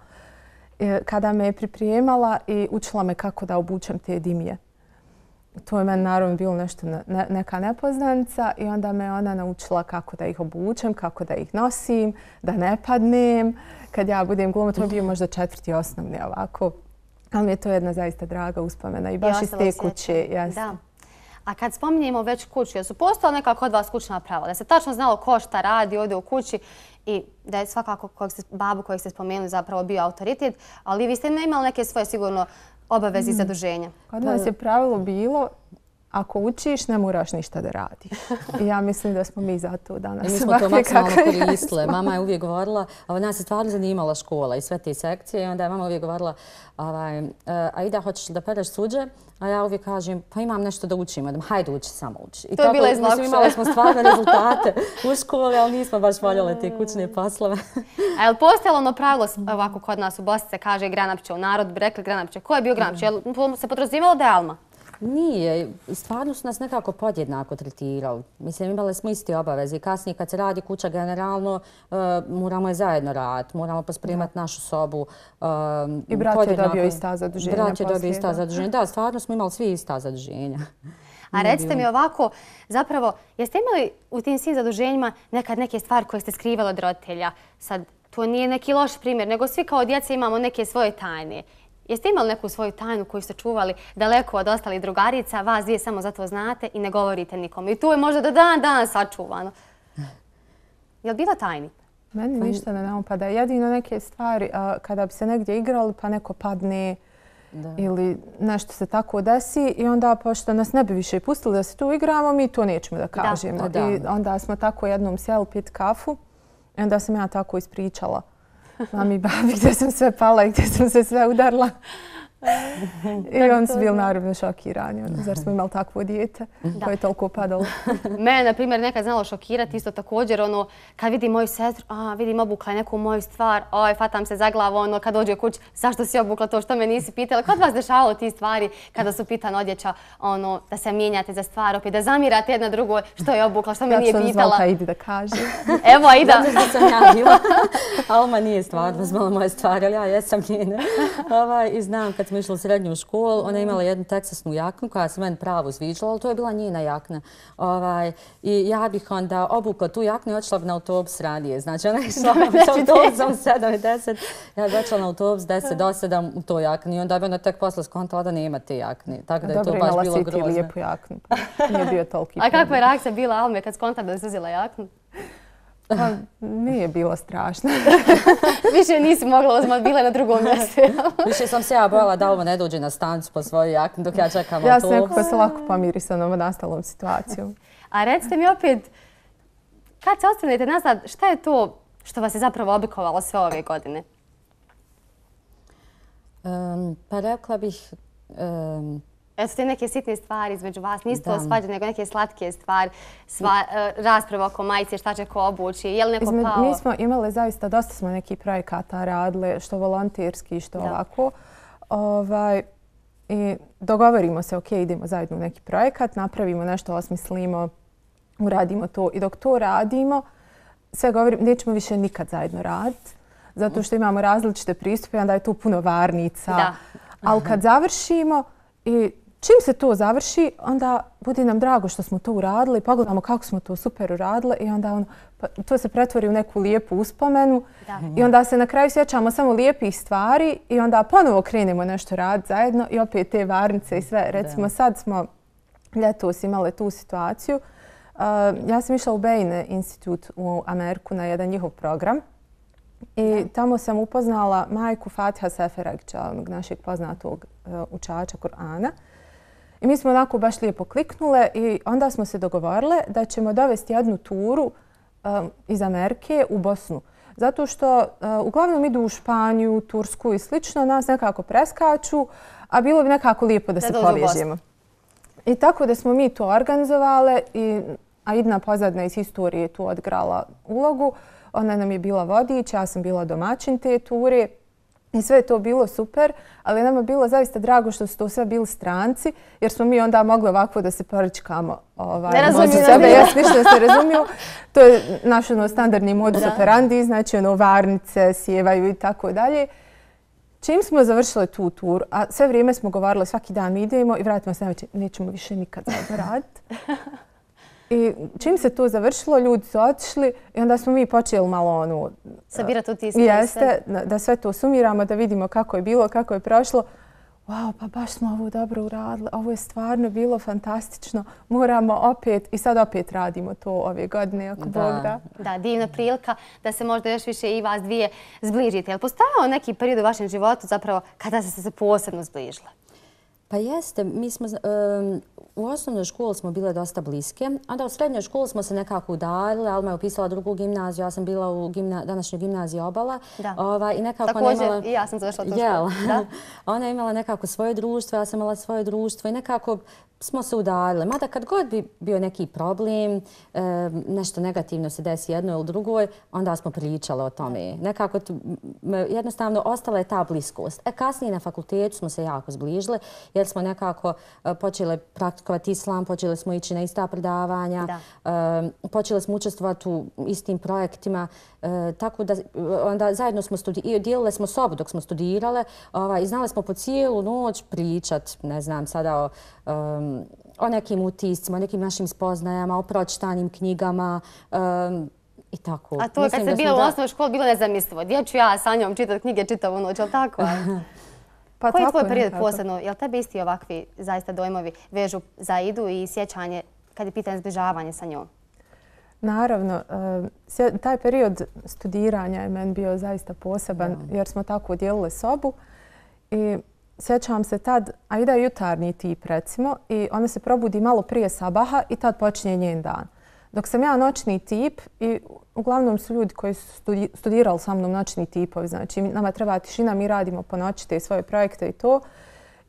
Speaker 2: Kada me je pripremala i učila me kako da obučem te dimije. To je meni naravno bilo nešto, neka nepoznanica i onda me ona naučila kako da ih obučem, kako da ih nosim, da ne padnem. Kad ja budem glumila, to je bio možda 4. osnovni ovako. Ali mi je to jedna zaista draga uspomena i baš iz te kuće.
Speaker 1: Da. A kad spominjemo već kuću, jesu postojala neka kod vas kućna pravila? Da se tačno znalo ko šta radi ovdje u kući i da je svakako babu kojeg ste spomenuli zapravo bio autoritet, ali vi ste imali neke svoje sigurno obaveze i zaduženja.
Speaker 2: Kod nas je pravilo bilo, ako učiš, ne moraš ništa da radiš. I ja mislim da smo mi zato danas.
Speaker 3: Mi smo to maksimalno koristile. Mama je uvijek govorila, nas je stvarno zanimala škola i sve te sekcije i onda je mama uvijek govorila, Aida, hoćeš da pereš suđe? A ja uvijek kažem, pa imam nešto da učim, hajde uči, samo uči.
Speaker 1: To je bila izlakša.
Speaker 3: Imali smo stvarno rezultate u školi, ali nismo baš voljeli te kućne poslove.
Speaker 1: A je li postojalo ono pravilo ovako kod nas u Bosni se kaže Granapića, u narod bi rekli Granapića. Ko je bio Granapić? Je li se podrazumijevalo da je Alma?
Speaker 3: Nije. Stvarno su nas nekako podjednako tretirali. Mislim, imali smo iste obaveze. Kasnije kad se radi kuća generalno, moramo je zajedno raditi. Moramo pospremati našu sobu.
Speaker 2: I brat je dobio ista zaduženja.
Speaker 3: Brat je dobio ista zaduženja. Da, stvarno smo imali svi ista zaduženja.
Speaker 1: A recite mi ovako, zapravo, jeste imali u tim svim zaduženjima nekad neke stvari koje ste skrivali od roditelja? Sad, to nije neki loš primjer, nego svi kao djeca imamo neke svoje tajne. Jeste imali neku svoju tajnu koju ste čuvali daleko od ostalih drugarica, vas dvije samo zato znate i ne govorite nikom? I tu je možda do dan sačuvano. Je li bilo tajni?
Speaker 2: Meni ništa ne napada. Jedino neke stvari, kada bi se negdje igrali pa neko padne ili nešto se tako desi i onda pošto nas ne bi više pustili da se tu igramo, mi to nećemo da kažemo. I onda smo tako jednom sjeli pit kafu i onda sam ja tako ispričala mami i babi gdje sam sve pala i gdje sam se sve udarla. I oni su bili naravno šokirani. Zar smo imali takvo dijete koje je toliko padalo?
Speaker 1: Mene, na primjer, nekad znalo šokirati isto također. Kad vidim moju sestru, vidim obukla neku moju stvar, fatam se za glavu, kad dođe kući, zašto si obukla to, što me nisi pitala? Kod vas dešavalo ti stvari kada su pitane odjeća, da se mijenjate za stvar, opet da zamirate jedna drugoj, što je obukla, što me nije pitala?
Speaker 2: Ja sam zvala Idi da kaže.
Speaker 1: Evo, Aida.
Speaker 3: Zato što sam ja bila. Alma nije stvarno znala moje stvari, ali ja jesam njene. I znam kad smo išli u srednju školu, ona je imala jednu teksasnu jaknu koja se meni pravo zviđala, ali to je bila njena jakna. I ja bih onda obukla tu jaknu i odšla na autobus radije. Znači, ona je išla s autobusom 7 i 10, ja bih odšla na autobus 10 do 7 u toj jakni i onda bi ona tek posle skontala da nema te jakne. Tako da je to baš bilo grozno.
Speaker 2: Dobro, imala si ti lijepu jaknu. Nije bio toliki.
Speaker 1: A kakva je reakcija bila Alme kad skontala da je uzela jaknu?
Speaker 2: Pa nije bilo strašno.
Speaker 1: Više nisi mogla uzmati, bila na drugom mjestu.
Speaker 3: Više sam se ja bojala da Alma ne dođe na stanicu po svoju jaknu dok ja čekam autobus.
Speaker 2: Ja sam nekako se lako pomiri sa ovom nastalom situacijom.
Speaker 1: A recite mi opet, kad se ostanete nazad, šta je to što vas je zapravo oblikovalo sve ove godine?
Speaker 3: Pa rekla bih...
Speaker 1: Eto, te neke sitne stvari između vas, nisu to svađe, nego neke slatke stvari, rasprava oko majice, šta će ko obući, je li neko pao?
Speaker 2: Mi smo imali zaista, dosta smo nekih projekata radili, što volonterski, što ovako. I dogovorimo se, ok, idemo zajedno u neki projekat, napravimo nešto, osmislimo, uradimo to. I dok to radimo, sve govorim, nećemo više nikad zajedno raditi, zato što imamo različite pristupe, onda je tu puno varnica. Ali kad završimo i čim se to završi, onda bude nam drago što smo to uradili, pogledamo kako smo to super uradili i onda to se pretvori u neku lijepu uspomenu i onda se na kraju sjećamo samo lijepih stvari i onda ponovo krenemo nešto raditi zajedno i opet te varnice i sve. Recimo sad smo ljetos imali tu situaciju. Ja sam išla u Bain Institute u Ameriku na jedan njihov program i tamo sam upoznala majku Fatiha Seferagića, onog našeg poznatog učača Kur'ana. I mi smo onako baš lijepo kliknule i onda smo se dogovorile da ćemo dovesti jednu turu iz Amerike u Bosnu. Zato što uglavnom idu u Španiju, Tursku i slično, nas nekako preskaču, a bilo bi nekako lijepo da se povežemo. I tako da smo mi to organizovale i Aidina Pozadina iz historije tu odigrala ulogu. Ona nam je bila vodič, ja sam bila domaćin te ture. I sve je to bilo super, ali nama je bilo zaista drago što su to sve bili stranci, jer smo mi onda mogli ovako da se poričkamo.
Speaker 1: Ne razumiju
Speaker 2: sebe, ništa da se razumiju. To je naš standardni modus operandi, znači varnice, sjevaju i tako dalje. Čim smo završili tu tur, a sve vrijeme smo govorili svaki dan idemo i vratimo se navečer, nećemo više nikad zajedno raditi. I čim se to završilo, ljudi su otišli i onda smo mi počeli malo
Speaker 1: sabirati utiske.
Speaker 2: Jeste, da sve to sumiramo, da vidimo kako je bilo, kako je prošlo. Wow, pa baš smo ovo dobro uradili, ovo je stvarno bilo fantastično. Moramo opet i sad opet radimo to ove godine, ako Bog da.
Speaker 1: Da, divna prilika da se možda još više i vas dvije zbližite. Je li postojao neki period u vašem životu zapravo kada ste se posebno zbližile?
Speaker 3: Pa jeste, mi smo u osnovnoj školi smo bile dosta bliske, onda u srednjoj školi smo se nekako udaljile, Alma je upisala drugu gimnaziju, ja sam bila u današnjoj gimnaziji Obala.
Speaker 1: Također i ja sam završila tu školu.
Speaker 3: Ona je imala nekako svoje društvo, ja sam imala svoje društvo i nekako smo se udaljile. Mada kad god bi bio neki problem, nešto negativno se desi jednoj ili drugoj, onda smo pričale o tome. Nekako jednostavno ostala je ta bliskost. Kasnije na fakultetu smo se jako zbližile jer smo nekako počeli praktikovati islam, počeli smo ići na ista predavanja, počeli smo učestvovati u istim projektima. Tako da onda zajedno smo dijelile smo sobu dok smo studirale i znali smo po cijelu noć pričat, ne znam, sada o nekim utiscima, o nekim našim spoznajama, o pročitanim knjigama i tako.
Speaker 1: A to kad ste bila u osnovnoj školi bilo nezamislivo. Gdje ću ja sa njom čitati knjige čitavu noć, je li tako? Koji je tvoj period posebno? Je li tebi isti ovakvi zaista dojmovi vežu za Aidu i sjećanje kad je pitanje zbližavanje sa njom?
Speaker 2: Naravno, taj period studiranja je meni bio zaista poseban jer smo tako dijelile sobu i sjećam se tad, Aida je jutarnji tip recimo i ona se probudi malo prije sabaha i tad počinje njen dan. Dok sam ja noćni tip i uglavnom su ljudi koji su studirali sa mnom noćni tipovi, znači nama treba tišina, mi radimo po noći te svoje projekte i to.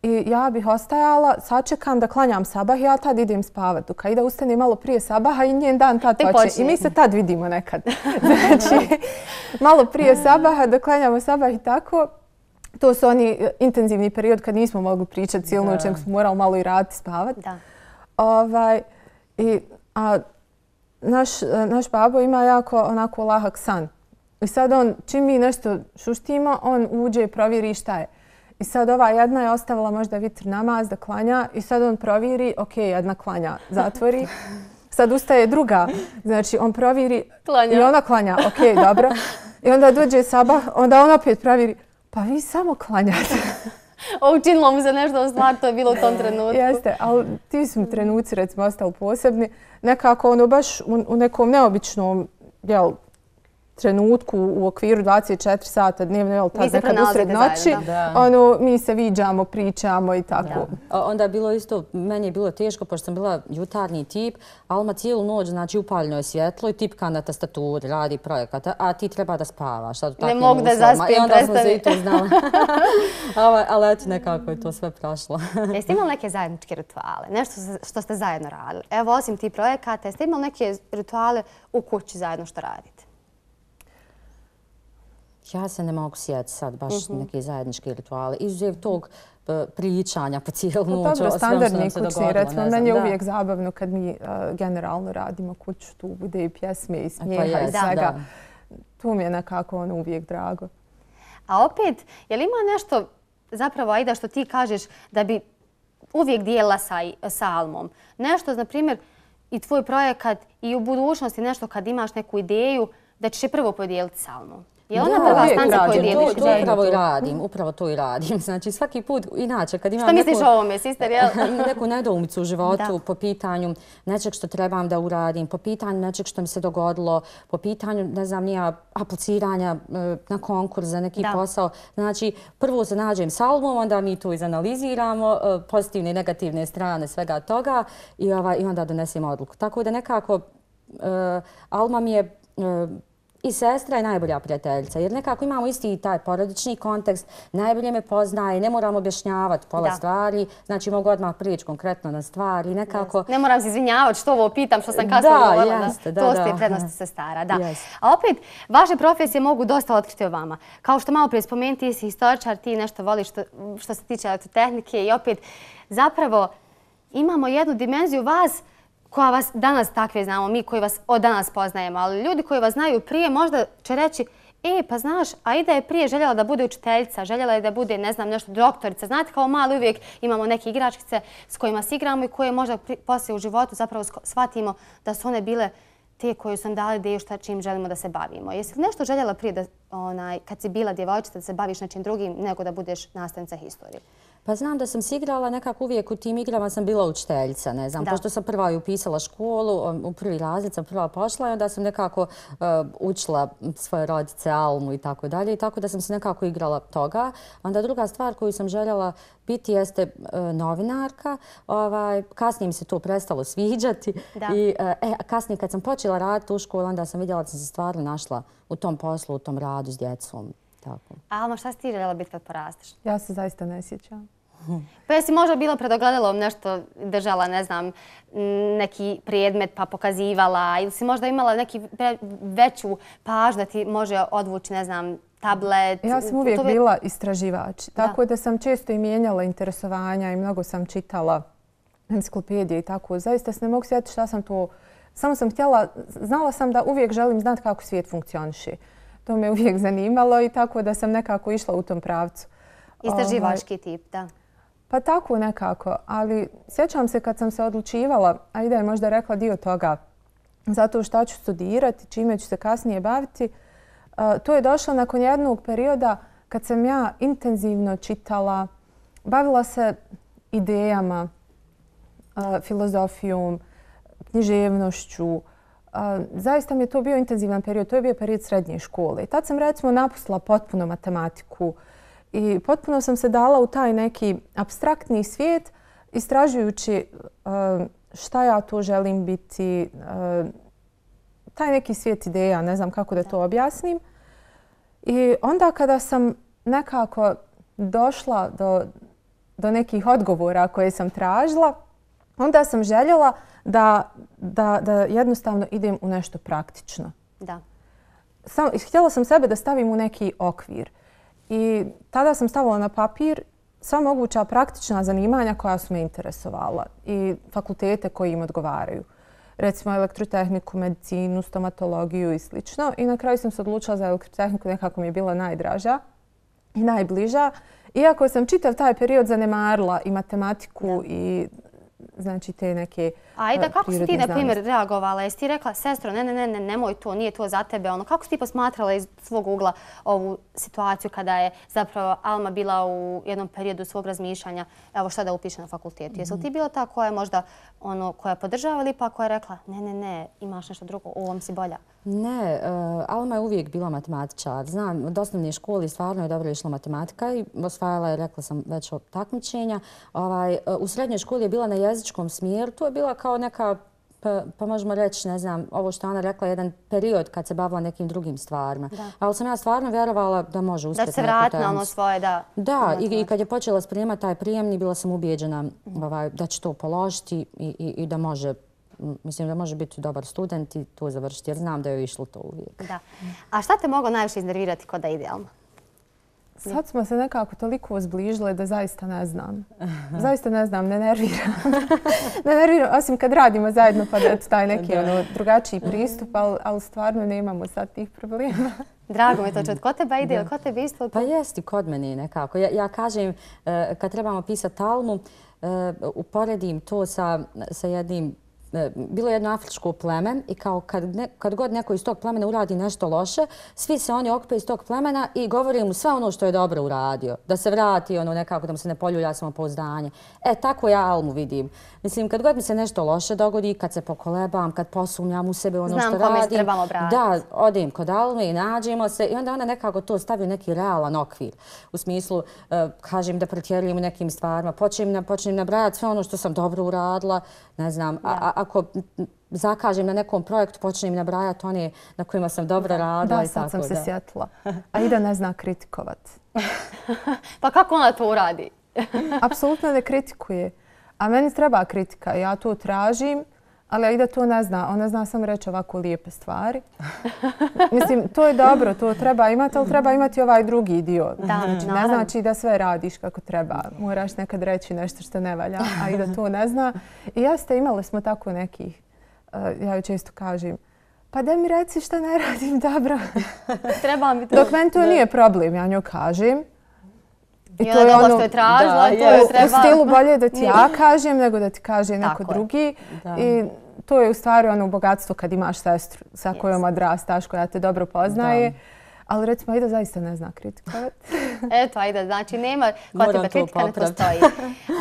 Speaker 2: I ja bih ostajala, sačekam da klanjam sabah i ja tad idem spavat. Dok Aida ustane malo prije sabaha i njen dan tad počne. I mi se tad vidimo nekad. Znači, malo prije sabaha, da klanjamo sabah i tako. To su oni intenzivni period kad nismo mogli pričati cijelu noć, nego smo morali malo i raditi spavat. Naš babo ima jako onako lahak san. I sad on, čim mi nešto šuštimo, on uđe i provjeri šta je. I sad ova jedna je ostavila možda vitr namaz da klanja i sad on provjeri, ok, jedna klanja, zatvori. Sad ustaje druga, znači on provjeri i ona klanja, ok, dobro. I onda dođe sabah, onda on opet provjeri, pa vi samo klanjate.
Speaker 1: Učinilo mu se nešto u stvar, to je bilo u tom trenutku.
Speaker 2: Jeste, ali ti su mi trenuci recimo ostali posebni. Nekako ono baš u nekom neobičnom trenutku u okviru 24 sata dnevno, jel tad nekad usred noći, mi se viđamo, pričamo i tako.
Speaker 3: Onda je bilo isto, meni je bilo teško, pošto sam bila jutarnji tip, Alma cijelu noć, znači upaljeno je svjetlo i tipka na tastaturi, radi projekat, a ti treba da spavaš.
Speaker 1: Ne mogu da zaspijem,
Speaker 3: i onda smo se i to znali. Ali eto, nekako je to sve prošlo.
Speaker 1: Jeste imali neke zajedničke rituale? Nešto što ste zajedno radili? Evo, osim ti projekata, jeste imali neke rituale u kući zajedno što radite?
Speaker 3: Ja se ne mogu sjetiti sad baš neke zajedničke rituale. Izuzev tog pričanja po cijelu noć.
Speaker 2: Dobro, standardni kućni, recimo, meni je uvijek zabavno kad mi generalno radimo kuću, tu bude i pjesme i smijeha i svega. Tu mi je nekako uvijek drago.
Speaker 1: A opet, je li ima nešto, zapravo, Aida, što ti kažeš da bi uvijek dijela sa Almom? Nešto, na primjer, i tvoj projekat i u budućnosti nešto kad imaš neku ideju da ćeš je prvo podijeliti sa Almom? Je ona prva stanca koju dijeliš?
Speaker 3: Upravo to i radim. Znači svaki put, inače, kad imam
Speaker 1: što misliš o ovome, sister?
Speaker 3: Neku nedoumicu u životu po pitanju nečeg što trebam da uradim, po pitanju nečeg što mi se dogodilo, po pitanju, ne znam, nija apliciranja na konkurs za neki posao. Znači, prvo se nađem s Almom, onda mi to izanaliziramo, pozitivne i negativne strane svega toga i onda donesemo odluku. Tako da nekako Alma mi je i sestra je najbolja prijateljica, jer nekako imamo isti taj porodični kontekst, najbolje me poznaje, ne moram objašnjavati pola stvari, znači mogu odmah prijeći konkretno na stvari, nekako...
Speaker 1: Ne moram se izvinjavati što ovo pitam, što sam kasno govorila. To ste prednosti sestara, da. A opet, vaše profesije mogu dosta otkriti o vama. Kao što malo prije spomenuti, ti si historičar, ti nešto voliš što se tiče elektrotehnike i opet, zapravo, imamo jednu dimenziju vas koja vas danas takve znamo, mi koji vas od danas poznajemo, ali ljudi koji vas znaju prije možda će reći pa znaš, Aida je prije željela da bude učiteljica, željela je da bude, ne znam, nešto doktorica. Znate, kao mali uvijek imamo neke igračkice s kojima se igramo i koje možda poslije u životu zapravo shvatimo da su one bile te koje su nam dali ideju čim želimo da se bavimo. Jesi li nešto željela prije da, kad si bila djevojčica da se baviš nečim drugim nego da budeš nastavnica historije?
Speaker 3: Pa znam da sam se igrala, nekako uvijek u tim igrama sam bila učiteljica, ne znam, pošto sam prva upisala školu, u prvi razred sam prva pošla i onda sam nekako učila svoje rodice, Almu i tako dalje, i tako da sam se nekako igrala toga. Onda druga stvar koju sam željela biti jeste novinarka, kasnije mi se to prestalo sviđati i kasnije kad sam počela raditi u školu, onda sam vidjela da sam se stvarno našla u tom poslu, u tom radu s djecom.
Speaker 1: Alma, šta si ti željela biti kad porasteš?
Speaker 2: Ja se zaista ne sjećam.
Speaker 1: Pa jesi možda bila pred ogledalom nešto držala, ne znam, neki predmet pa pokazivala ili si možda imala neki veću pažnju da ti može odvući, ne znam, tablet?
Speaker 2: Ja sam uvijek bila istraživač, tako da sam često i mijenjala interesovanja i mnogo sam čitala enciklopedije i tako. Zaista se ne mogu sjetiti šta sam to... Samo sam htjela, znala sam da uvijek želim znati kako svijet funkcioniše. To me uvijek zanimalo i tako da sam nekako išla u tom pravcu.
Speaker 1: Istraživački tip, da.
Speaker 2: Pa tako nekako, ali sjećam se kad sam se odlučivala, a Aida je možda rekla dio toga, zato što ću studirati, čime ću se kasnije baviti, to je došlo nakon jednog perioda kad sam ja intenzivno čitala, bavila se idejama, filozofijom, književnošću. Zaista mi je to bio intenzivan period, to je bio period srednje škole. Tad sam recimo napustila potpuno matematiku i potpuno sam se dala u taj neki apstraktni svijet istražujući šta ja to želim biti, taj neki svijet ideja, ne znam kako da to objasnim. I onda kada sam nekako došla do nekih odgovora koje sam tražila, onda sam željela da jednostavno idem u nešto praktično.
Speaker 1: Da.
Speaker 2: Htjela sam sebe da stavim u neki okvir. I tada sam stavila na papir sva moguća praktična zanimanja koja su me interesovala i fakultete koji im odgovaraju. Recimo elektrotehniku, medicinu, stomatologiju i sl. I na kraju sam se odlučila za elektrotehniku, nekako mi je bila najdraža i najbliža. Iako sam čitav taj period zanemarila i matematiku i znači te neke
Speaker 1: Aida, kako si ti, na primjer, reagovala? Jesi ti rekla, sestro, nemoj to, nije to za tebe? Kako si ti posmatrala iz svog ugla ovu situaciju kada je zapravo Alma bila u jednom periodu svog razmišljanja, evo šta da upiše na fakultetu? Jesi li ti bila ta koja je možda koja podržava ili pa koja je rekla, ne, imaš nešto drugo, u ovom si bolja?
Speaker 3: Ne, Alma je uvijek bila matematičar. Znam, od osnovne škole stvarno je dobro išla matematika i osvajala je, rekla sam, već takmičenja. U srednjoj školi je bila na jezičkom smjeru. To je bila kao neka, pa možemo reći, ne znam, ovo što Ana rekla, jedan period kad se bavila nekim drugim stvarima. Ali sam ja stvarno vjerovala da može uspjeti.
Speaker 1: Da se vrati na ono svoje, da.
Speaker 3: Da, i kad je počela spremati taj prijemni, bila sam ubijeđena da će to položiti i da može. Mislim da može biti dobar student i to završiti, jer znam da je išlo to uvijek.
Speaker 1: Da. A šta te moglo najviše iznervirati kod da ide Alma?
Speaker 2: Sad smo se nekako toliko zbližile da zaista ne znam. Zaista ne znam, ne nerviram. Ne nerviram, osim kad radimo zajedno pa da taj neki drugačiji pristup, ali stvarno nemamo sad tih problema.
Speaker 1: Drago mi to čuti. Ko tebe ide ili ko tebe isto?
Speaker 3: Pa jesti kod mene nekako. Ja kažem, kad trebamo pisati Almu, uporedim to sa jednim. Bilo je jedno afričko pleme i kao kad god neko iz tog plemena uradi nešto loše, svi se oni okupe iz tog plemena i govore mu sve ono što je dobro uradio. Da se vrati, nekako da mu se ne poljulja samopouzdanje. Tako ja Almu vidim. Mislim, kad god mi se nešto loše dogodi, kad se pokolebam, kad posumnjam u sebe ono što radim.
Speaker 1: Znam kome se trebamo obratiti.
Speaker 3: Da, odem kod Alme i nađemo se i onda ona nekako to stavi u neki realan okvir. U smislu, kažem da pretjerujem u nekim stvarima, počnem nabrajati sve ono što sam dobro uradila, ne znam, ako zakažem na nekom projektu, počnem nabrajati one na kojima sam dobro radila.
Speaker 2: Da, sad sam se sjetila. Aida ne zna kritikovat.
Speaker 1: Pa kako ona to uradi?
Speaker 2: Apsolutno ne kritikuje. A meni treba kritika. Ja to tražim, ali Aida to ne zna. Ona zna samo reći ovako lijepe stvari. Mislim, to je dobro, to treba imati, ali treba imati ovaj drugi dio. Znači, ne znači da sve radiš kako treba. Moraš nekad reći nešto što ne valja, a Aida to ne zna. I imali smo tako nekih, ja joj često kažem, pa da mi reci što ne radim dobro.
Speaker 1: Treba mi to.
Speaker 2: Dok meni to nije problem, ja njoj kažem.
Speaker 1: I ona je dobro što je tražila, to je treba.
Speaker 2: U stilu bolje da ti ja kažem nego da ti kaže neko drugi. I to je u stvari ono bogatstvo kad imaš sestru sa kojom odrastaš, koja te dobro poznaje. Ali recimo Aida zaista ne zna kritikovati.
Speaker 1: Eto Aida, znači nema kod tebe kritika ne postoji.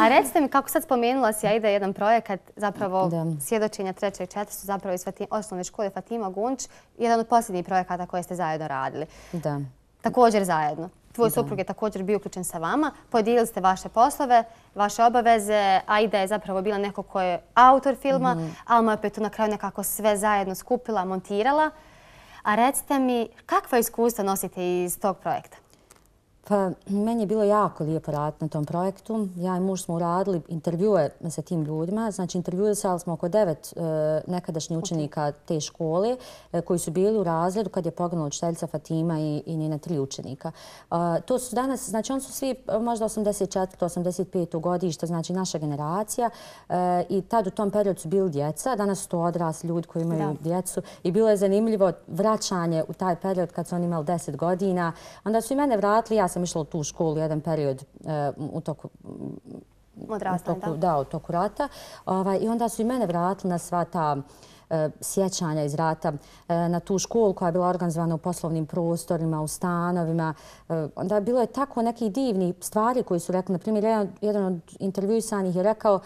Speaker 1: A recite mi kako sad spomenula si Aida jedan projekat, zapravo svjedočenja 3. i 4. su zapravo iz osnovne škole Fatima Gunč, jedan od posljednjih projekata koje ste zajedno radili.
Speaker 3: Da.
Speaker 1: Također zajedno. Tvoj suprug je također bio uključen sa vama. Podijelili ste vaše poslove, vaše obaveze. Aida je zapravo bila neko ko je autor filma. Alma je opet tu na kraju nekako sve zajedno skupila, montirala. A recite mi, kakva iskustva nosite iz tog projekta?
Speaker 3: Pa, meni je bilo jako lijepo raditi na tom projektu. Ja i muž smo uradili intervjue sa tim ljudima. Znači, intervjuisali smo oko 9 nekadašnjih učenika te škole koji su bili u razredu kad je poginula učiteljica Fatima i njena 3 učenika. To su danas, znači, oni su svi možda 84. 85. godište, znači naša generacija. I tad u tom periodu su bili djeca. Danas su to odrasli ljudi koji imaju djecu. I bilo je zanimljivo vraćanje u taj period kad su oni imali 10 godina. Onda su i mene vratili, ja sam išla u tu školu jedan period u toku rata. I onda su i mene vratili na sva ta sjećanja iz rata, na tu školu koja je bila organizovana u poslovnim prostorima, u stanovima. Onda bilo je tako nekih divnih stvari koji su rekli. Naprimjer, jedan od intervjuisanih je rekao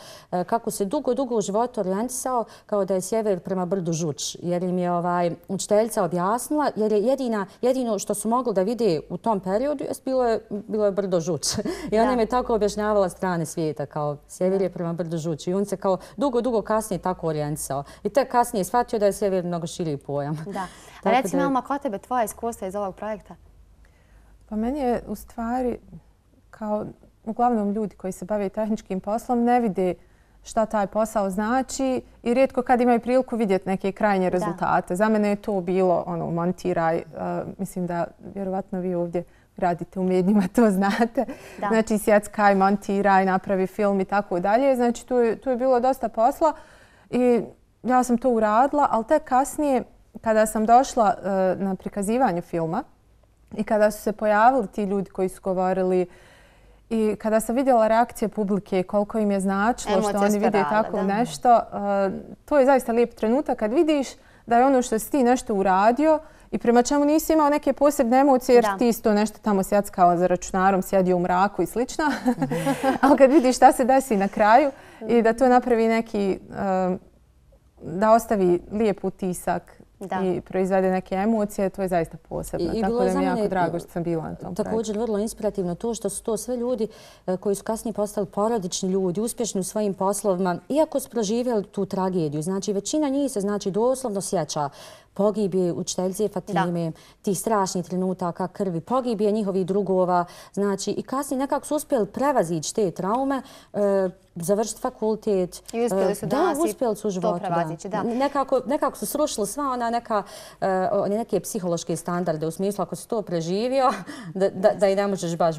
Speaker 3: kako se dugo u životu orijentisao kao da je sjever prema brdu Žuč. Jer im je učiteljica objasnila, jer je jedino što su mogli da vide u tom periodu bilo je brdo Žuč. I ona im je tako objašnjavala strane svijeta kao sjever je prema brdu Žuč. I on se kao dugo kasnije tako orijentisao. I tek kasnije je shvatio da je sjever mnogo širi pojam.
Speaker 1: Da. A reci mi, Alma, ko tebe tvoja iskustva iz ovog projekta?
Speaker 2: Pa meni je u stvari, kao uglavnom ljudi koji se bave tehničkim poslom, ne vide šta taj posao znači i rijetko kad imaju priliku vidjeti neke krajnje rezultate. Za mene je to bilo montiraj. Mislim da vjerovatno vi ovdje radite u medijima, to znate. Znači sjeckaj, montiraj, napravi film i tako dalje. Znači tu je bilo dosta posla i ja sam to uradila, ali tek kasnije kada sam došla na prikazivanje filma i kada su se pojavili ti ljudi koji su govorili i kada sam vidjela reakcije publike, koliko im je značilo što oni vide tako nešto, to je zaista lijep trenutak kad vidiš da je ono što si ti nešto uradio i prema čemu nisi imao neke posebne emocije jer ti isto nešto tamo sjackao za računarom, sjedio u mraku i slično. Ali kad vidiš šta se desi na kraju i da to napravi neki, da ostavi lijep utisak i proizvede neke emocije, to je zaista posebno. Tako da mi je jako drago što sam bila na tom projektu.
Speaker 3: Također vrlo inspirativno to što su to sve ljudi koji su kasnije postali porodični ljudi, uspješni u svojim poslovima, iako su proživjeli tu tragediju. Znači, većina njih se doslovno sjeća pogibije učiteljice Fatime, tih strašnih trenutaka krvi, pogibije njihovih drugova. Znači, i kasnije nekako su uspjeli prevazići te traume, završiti fakultet.
Speaker 1: I uspjeli su danas
Speaker 3: i to
Speaker 1: prevazići, da.
Speaker 3: Nekako su srušili sva ona neke psihološke standarde u smislu ako si to preživio, da i ne možeš baš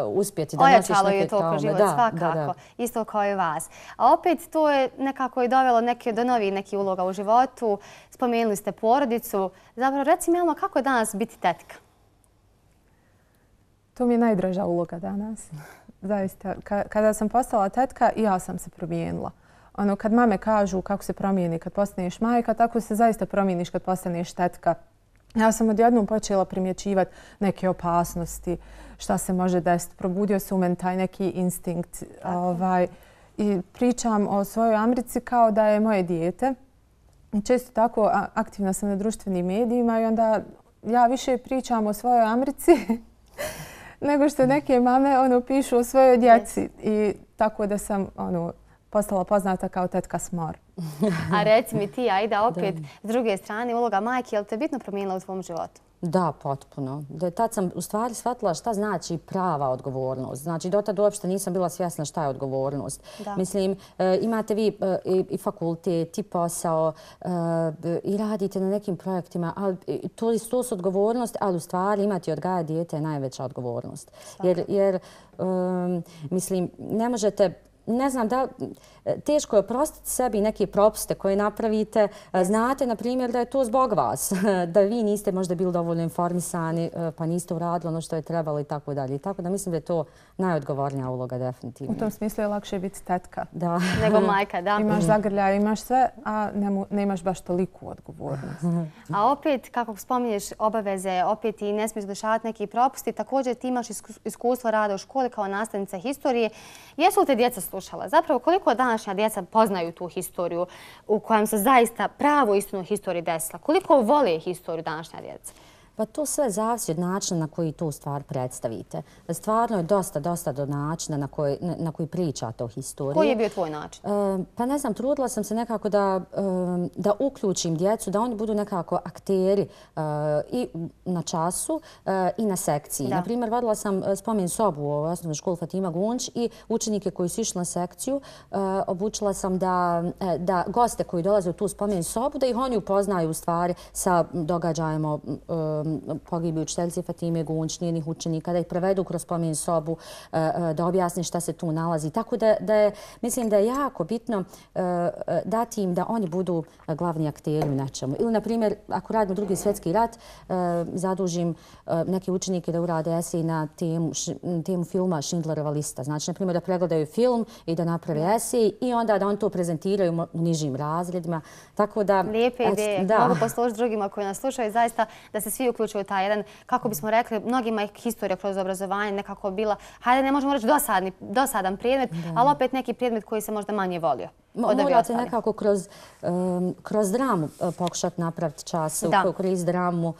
Speaker 3: uspjeti da nosiš neke traume.
Speaker 1: Ojačalo je to kroz život, svakako. Isto kao i vas. A opet to je nekako i dovelo do novih nekih uloga u životu. Spomenuli ste porodicu. Zapravo, reci mi, Alma, kako je danas biti tetka?
Speaker 2: To mi je najdraža uloga danas. Zaista. Kada sam postala tetka, i ja sam se promijenila. Kad mame kažu kako se promijeni kad postaneš majka, tako se zaista promijeniš kad postaneš tetka. Ja sam odjednom počela primjećivati neke opasnosti, šta se može desiti. Probudio se u meni taj neki instinkt. I pričam o svojoj Amrici kao da je moje dijete. Često tako aktivna sam na društvenim medijima i onda ja više pričam o svojoj Amrici nego što neke mame pišu o svojoj djeci. I tako da sam postala poznata kao tetka Smor.
Speaker 1: A reci mi ti, Aida, opet s druge strane, uloga majke, je li te bitno promijenila u tvom životu?
Speaker 3: Da, potpuno. Tad sam u stvari shvatila šta znači prava odgovornost. Znači, dotad uopšte nisam bila svjesna šta je odgovornost. Mislim, imate vi i fakultet, i posao, i radite na nekim projektima, ali to su odgovornost, ali u stvari imati odgaja dijete je najveća odgovornost. Jer, mislim, ne možete... Ne znam, teško je oprostiti sebi neke propuste koje napravite. Znate, na primjer, da je to zbog vas, da vi niste možda bili dovoljno informisani, pa niste uradili ono što je trebalo i tako dalje. Tako da mislim da je to najodgovornija uloga, definitivno.
Speaker 2: U tom smislu je lakše biti tetka.
Speaker 1: Nego majka, da.
Speaker 2: Imaš zagrljaje, imaš sve, a ne imaš baš toliku odgovornost.
Speaker 1: A opet, kako spominješ obaveze, opet i ne smiješ dešavati neki propusti, također ti imaš iskustvo rada u školi kao nastavnica historije. Jesu li te djeca slušala? Zapravo, koliko današnja djeca poznaju tu historiju u kojem se zaista pravu istinu historiji desila? Koliko vole historiju današnja djeca?
Speaker 3: Pa to sve zavisi od načina na koji tu stvar predstavite. Stvarno je dosta do načina na koji pričate o historiji.
Speaker 1: Koji je bio tvoj način?
Speaker 3: Pa ne znam, trudila sam se nekako da uključim djecu, da oni budu nekako akteri i na času i na sekciji. Naprimjer, vodila sam spomen sobu u osnovnoj školi Fatima Gunč i učenike koji su išli na sekciju obučila sam da goste koji dolaze u tu spomen sobu, da ih oni upoznaju u stvari sa događajima pogibije učiteljice Fatime Gunč, njenih učenika, da ih prevedu kroz spomen sobu, da objasni šta se tu nalazi. Tako da mislim da je jako bitno dati im da oni budu glavni akteri u nečemu. Ili, na primjer, ako radimo Drugi svjetski rat, zadužim neke učenike da urade esej na temu filma Schindlerova lista. Znači, na primjer, da pregledaju film i da naprave esej i onda da oni to prezentiraju u nižim razredima.
Speaker 1: Lijepe ideje. Mogu poslušati drugima koji nas slušaju. Zaista da se svi uključuju taj jedan, kako bismo rekli, mnogima je historija kroz obrazovanje nekako bila, hajde ne možemo reći dosadan predmet, ali opet neki predmet koji se možda manje volio.
Speaker 3: Morate nekako kroz dramu pokušati napraviti čas, korist dramu,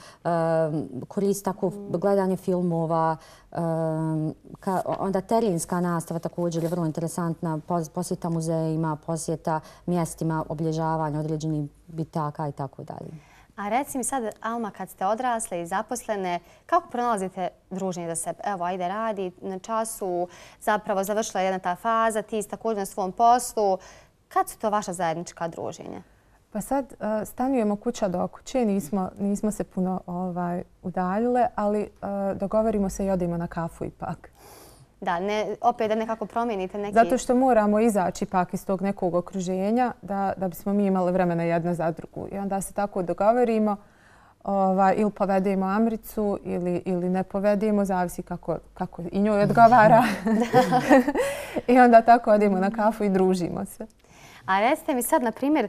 Speaker 3: korist tako gledanje filmova, onda terenska nastava također je vrlo interesantna, posjeta muzejima, posjeta mjestima, obilježavanja određenih bitaka i tako dalje.
Speaker 1: A reci mi sad, Alma, kad ste odrasle i zaposlene, kako pronalazite druženje za sebe? Evo, Ajde radi na času, zapravo završila jedna ta faza, ti također na svom poslu. Kad su to vaša zajednička druženja?
Speaker 2: Pa sad stanujemo kuća do kuće, nismo se puno udaljile, ali dogovorimo se i odemo na kafu ipak.
Speaker 1: Da, opet da nekako promijenite neki...
Speaker 2: Zato što moramo izaći ipak iz tog nekog okruženja da bismo mi imali vremena jedna za drugu. I onda se tako dogovorimo ili povedemo Amricu ili ne povedemo, zavisi kako i njoj odgovara. I onda tako odemo na kafu i družimo se.
Speaker 1: A recite mi sad, na primjer,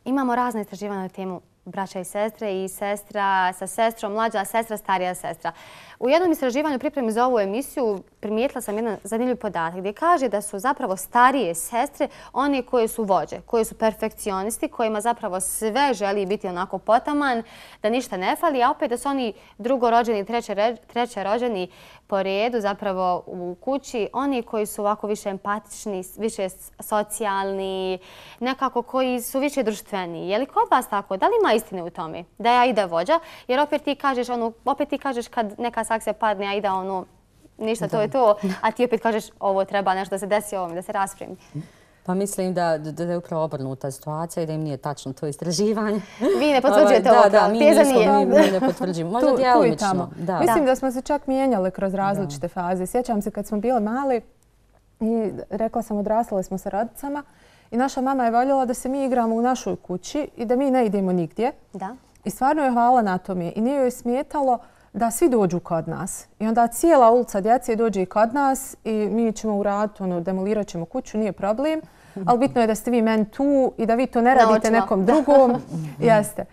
Speaker 1: imamo razne istraživanja na temu braća i sestre i sestra sa sestrom, mlađa sestra, starija sestra. U jednom istraživanju pripremi za ovu emisiju primijetila sam jedan zanimljiv podatak gdje kaže da su zapravo starije sestre one koje su vođe, koje su perfekcionisti, kojima zapravo sve želi biti onako potaman, da ništa ne fali, a opet da su oni drugorođeni, trećerođeni po redu zapravo u kući, oni koji su ovako više empatični, više socijalni, nekako koji su više društveni. Je li kod vas tako? Da li ima istine u tome da ja ide vođa? Jer opet ti kažeš kad neka sankcija padne, ja ide ništa, to je to, a ti opet kažeš ovo treba nešto da se desi ovome, da se raspremi.
Speaker 3: Pa mislim da je upravo obrnuta situacija i da im nije tačno to istraživanje.
Speaker 1: Vi ne potvrđujete ovo?
Speaker 3: Da, mi ne potvrđujemo. Možda djelomično.
Speaker 2: Mislim da smo se čak mijenjali kroz različite faze. Sjećam se kad smo bile mali i rekla sam odrastale smo sa rodicama i naša mama je voljela da se mi igramo u našoj kući i da mi ne idemo nigdje. I stvarno je hvala na tome i nije joj smetalo da svi dođu kod nas. I onda cijela ulica djece dođe i kod nas i mi ćemo uraditi, demolirat ćemo kuću, nije problem. Ali bitno je da ste vi meni tu i da vi to ne radite nekom drugom. Jeste.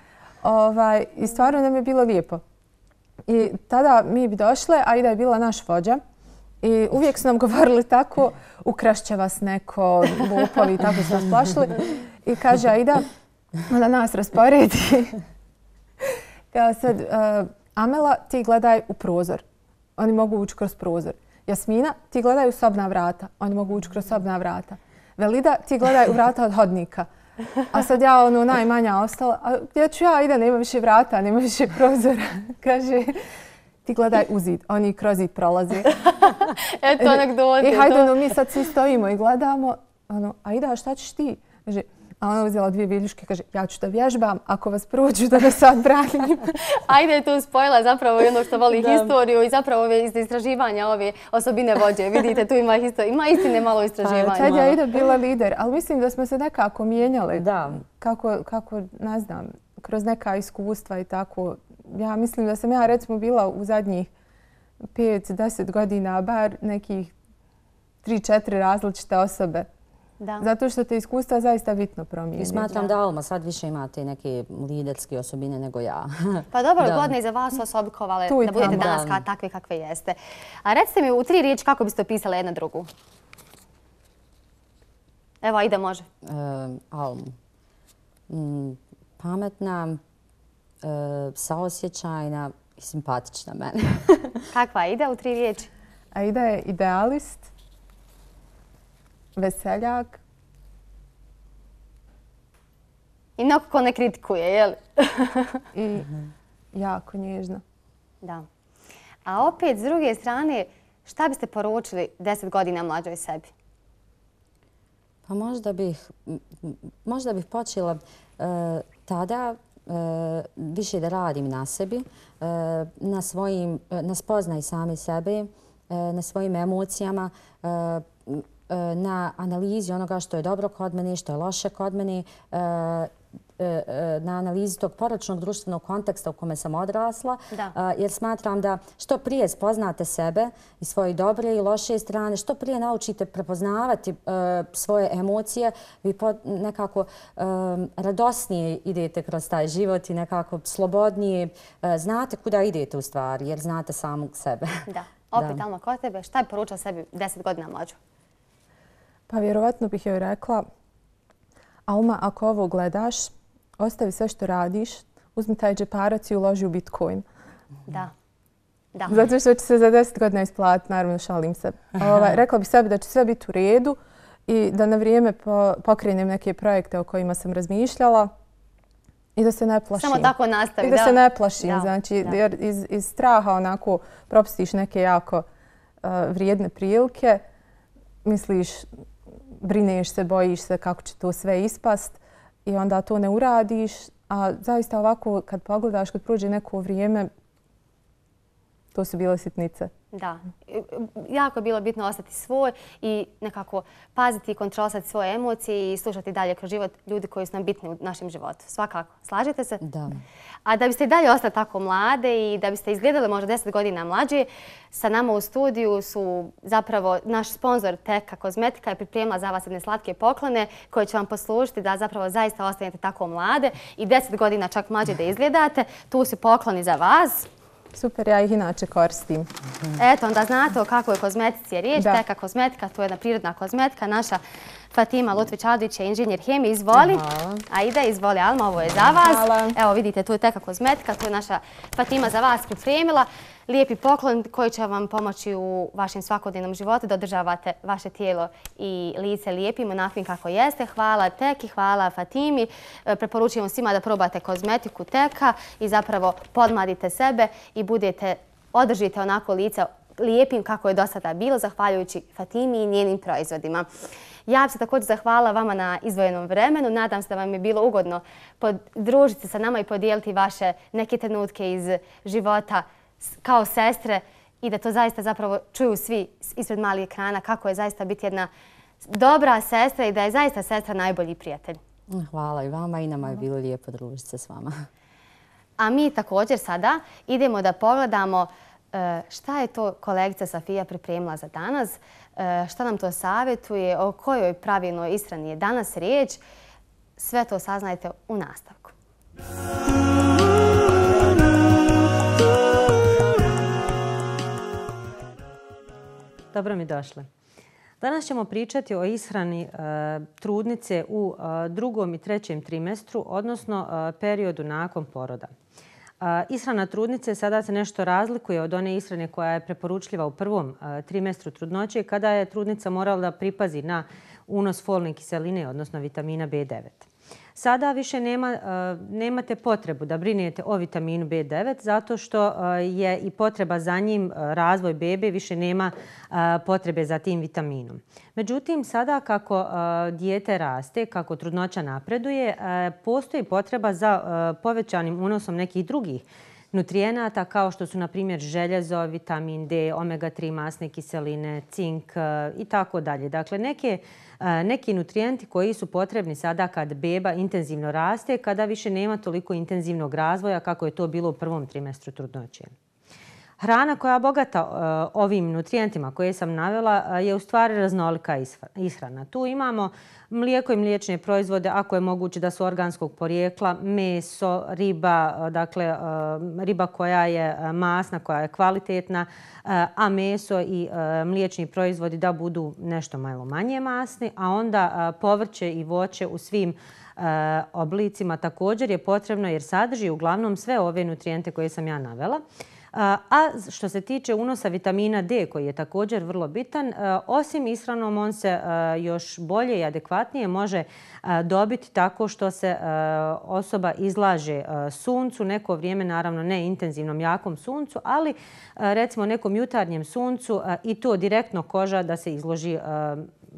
Speaker 2: I stvarno nam je bilo lijepo. I tada mi bi došle, Aida je bila naš vođa. I uvijek su nam govorili tako, ukrašće vas neko, lopovi, tako su nas plašili. I kaže Aida, da nas rasporedi. Kao sad, Amela, ti gledaj u prozor. Oni mogu ući kroz prozor. Jasmina, ti gledaj u sobna vrata. Oni mogu ući kroz sobna vrata. Velida, ti gledaj u vrata od hodnika. A sad ja najmanja ostala. A gdje ću ja? Ide, nema više vrata, nema više prozora. Kaže, ti gledaj u zid. Oni kroz zid prolaze.
Speaker 1: Eto anegdote.
Speaker 2: I hajde, mi sad svi stojimo i gledamo. Aida, šta ćeš ti? Kaže, a ona uzela 2 viljuške i kaže, ja ću da vježbam, ako vas prođu da vas odbranim.
Speaker 1: Aida je tu spojila zapravo jedno što voli historiju i zapravo ove istraživanja, ove osobine vođe. Vidite, tu ima istine malo istraživanja.
Speaker 2: Tad je Aida bila lider, ali mislim da smo se nekako mijenjali. Kako, ne znam, kroz neka iskustva i tako. Ja mislim da sam ja recimo bila u zadnjih 5-10 godina bar nekih 3-4 različite osobe. Zato što te iskustva zaista bitno promijeni.
Speaker 3: I smatram da Alma sad više imate neke liderske osobine nego ja.
Speaker 1: Pa dobro, godine za vas su osobikovale da budete danas takve kakve jeste. A recite mi u 3 riječi kako biste opisali jedna drugu. Evo, Aida može.
Speaker 3: Almu. Pametna, saosjećajna i simpatična meni.
Speaker 1: Kakva Aida u 3 riječi?
Speaker 2: Aida je idealist, veseljak.
Speaker 1: I nekako ne kritikuje, je li?
Speaker 2: I jako nježna.
Speaker 1: Da. A opet, s druge strane, šta biste poručili 10 godina mlađoj sebi?
Speaker 3: Pa možda bih počela tada više da radim na sebi, na spoznaj sami sebe, na svojim emocijama, na analizi onoga što je dobro kod mene, što je loše kod mene, na analizi tog poročnog društvenog konteksta u kome sam odrasla, jer smatram da što prije spoznate sebe i svoje dobre i loše strane, što prije naučite prepoznavati svoje emocije, vi nekako radosnije idete kroz taj život i nekako slobodnije znate kuda idete u stvari, jer znate samog sebe.
Speaker 1: Da, opet Alma, kod tebe, šta je poručila sebi 10 godina mlađu?
Speaker 2: Pa vjerovatno bih joj rekla, Alma, ako ovo gledaš, ostavi sve što radiš, uzmi taj džeparac i uloži u Bitcoin.
Speaker 1: Da.
Speaker 2: Zato što će se za 10 godina isplatiti, naravno šalim se. Rekla bih sebi da će sve biti u redu i da na vrijeme pokrenem neke projekte o kojima sam razmišljala i da se ne plašim.
Speaker 1: Samo tako nastavi.
Speaker 2: I da se ne plašim, znači, jer iz straha onako propustiš neke jako vrijedne prilike, misliš, brineš se, bojiš se kako će to sve ispast i onda to ne uradiš. A zaista ovako kad pogledaš, kad prođe neko vrijeme, to su bile sitnice.
Speaker 1: Da. Jako je bilo bitno ostati svoj i nekako paziti i kontrolisati svoje emocije i slušati dalje kroz život ljudi koji su nam bitni u našem životu. Svakako. Slažete se?
Speaker 3: Da.
Speaker 1: A da biste i dalje ostali tako mlade i da biste izgledali možda 10 godina mlađe, sa nama u studiju su zapravo naš sponsor Teka kozmetika je pripremila za vas jedne slatke poklone koje će vam poslužiti da zapravo zaista ostanete tako mlade i 10 godina čak mlađe da izgledate. Tu su pokloni za vas.
Speaker 2: Super, ja ih inače koristim.
Speaker 1: Eto, onda znate o kakvoj kozmetici je riječ. Teka kozmetika, to je jedna prirodna kozmetika. Naša Fatima Lutvić-Adić je inženjer hemije. Izvoli. Ajde, izvoli Alma, ovo je za vas. Evo vidite, tu je Teka kozmetika, to je naša Fatima za vas pripremila. Lijepi poklon koji će vam pomoći u vašem svakodnevnom životu da održavate vaše tijelo i lice lijepim, onakvim kako jeste. Hvala Teki, hvala Fatimi. Preporučujem svima da probate kozmetiku Teka i zapravo podmladite sebe i održite onako lice lijepim kako je do sada bilo, zahvaljujući Fatimi i njenim proizvodima. Ja bih se također zahvala vama na izdvojenom vremenu. Nadam se da vam je bilo ugodno družiti se sa nama i podijeliti vaše neke trenutke iz života kao sestre i da to zaista zapravo čuju svi ispred malih ekrana kako je zaista biti jedna dobra sestra i da je zaista sestra najbolji prijatelj.
Speaker 3: Hvala i vama i nama je bilo lijepo družiti se s vama.
Speaker 1: A mi također sada idemo da pogledamo šta je to kolegica Safija pripremila za danas, šta nam to savjetuje, o kojoj pravilnoj ishrani je danas riječ. Sve to saznajte u nastavku.
Speaker 6: Dobro mi došle. Danas ćemo pričati o ishrani trudnice u drugom i trećem trimestru, odnosno periodu nakon poroda. Ishrana trudnice sada se nešto razlikuje od one ishrane koja je preporučljiva u prvom trimestru trudnoće kada je trudnica morala da pripazi na unos folne kiseline, odnosno vitamina B9. Sada više nemate potrebu da brinete o vitaminu B9 zato što je i potreba za njim razvoj bebe, više nema potrebe za tim vitaminom. Međutim, sada kako dijete raste, kako trudnoća napreduje, postoji potreba za povećanim unosom nekih drugih nutrijenata kao što su na primjer željezo, vitamin D, omega-3 masne kiseline, cink i tako dalje. Dakle, neki nutrijenti koji su potrebni sada kad beba intenzivno raste, kada više nema toliko intenzivnog razvoja kako je to bilo u prvom trimestru trudnoće. Hrana koja je bogata ovim nutrijentima koje sam navela je u stvari raznolika ishrana. Tu imamo mlijeko i mliječne proizvode, ako je moguće da su organskog porijekla, meso, riba, dakle riba koja je masna, koja je kvalitetna, a meso i mliječni proizvodi da budu nešto malo manje masni, a onda povrće i voće u svim oblicima također je potrebno jer sadrži uglavnom sve ove nutrijente koje sam ja navela. A što se tiče unosa vitamina D koji je također vrlo bitan, osim ishranom on se još bolje i adekvatnije može dobiti tako što se osoba izlaže suncu neko vrijeme, naravno ne intenzivnom jakom suncu, ali recimo nekom jutarnjem suncu i to direktno koža da se izloži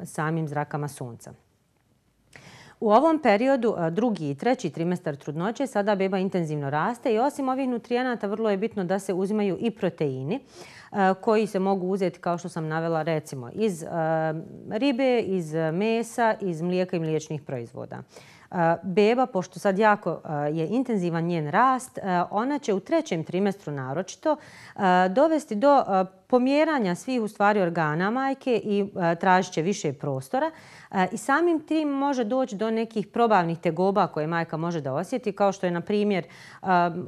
Speaker 6: samim zrakama sunca. U ovom periodu, drugi i treći trimestar trudnoće, sada beba intenzivno raste i osim ovih nutrijenata vrlo je bitno da se uzimaju i proteini koji se mogu uzeti, kao što sam navela, recimo iz ribe, iz mesa, iz mlijeka i mliječnih proizvoda. Beba, pošto sad jako je intenzivan njen rast, ona će u trećem trimestru naročito dovesti do pomjeranja svih u stvari organa majke i tražit će više prostora i samim tim može doći do nekih probavnih tegoba koje majka može da osjeti, kao što je na primjer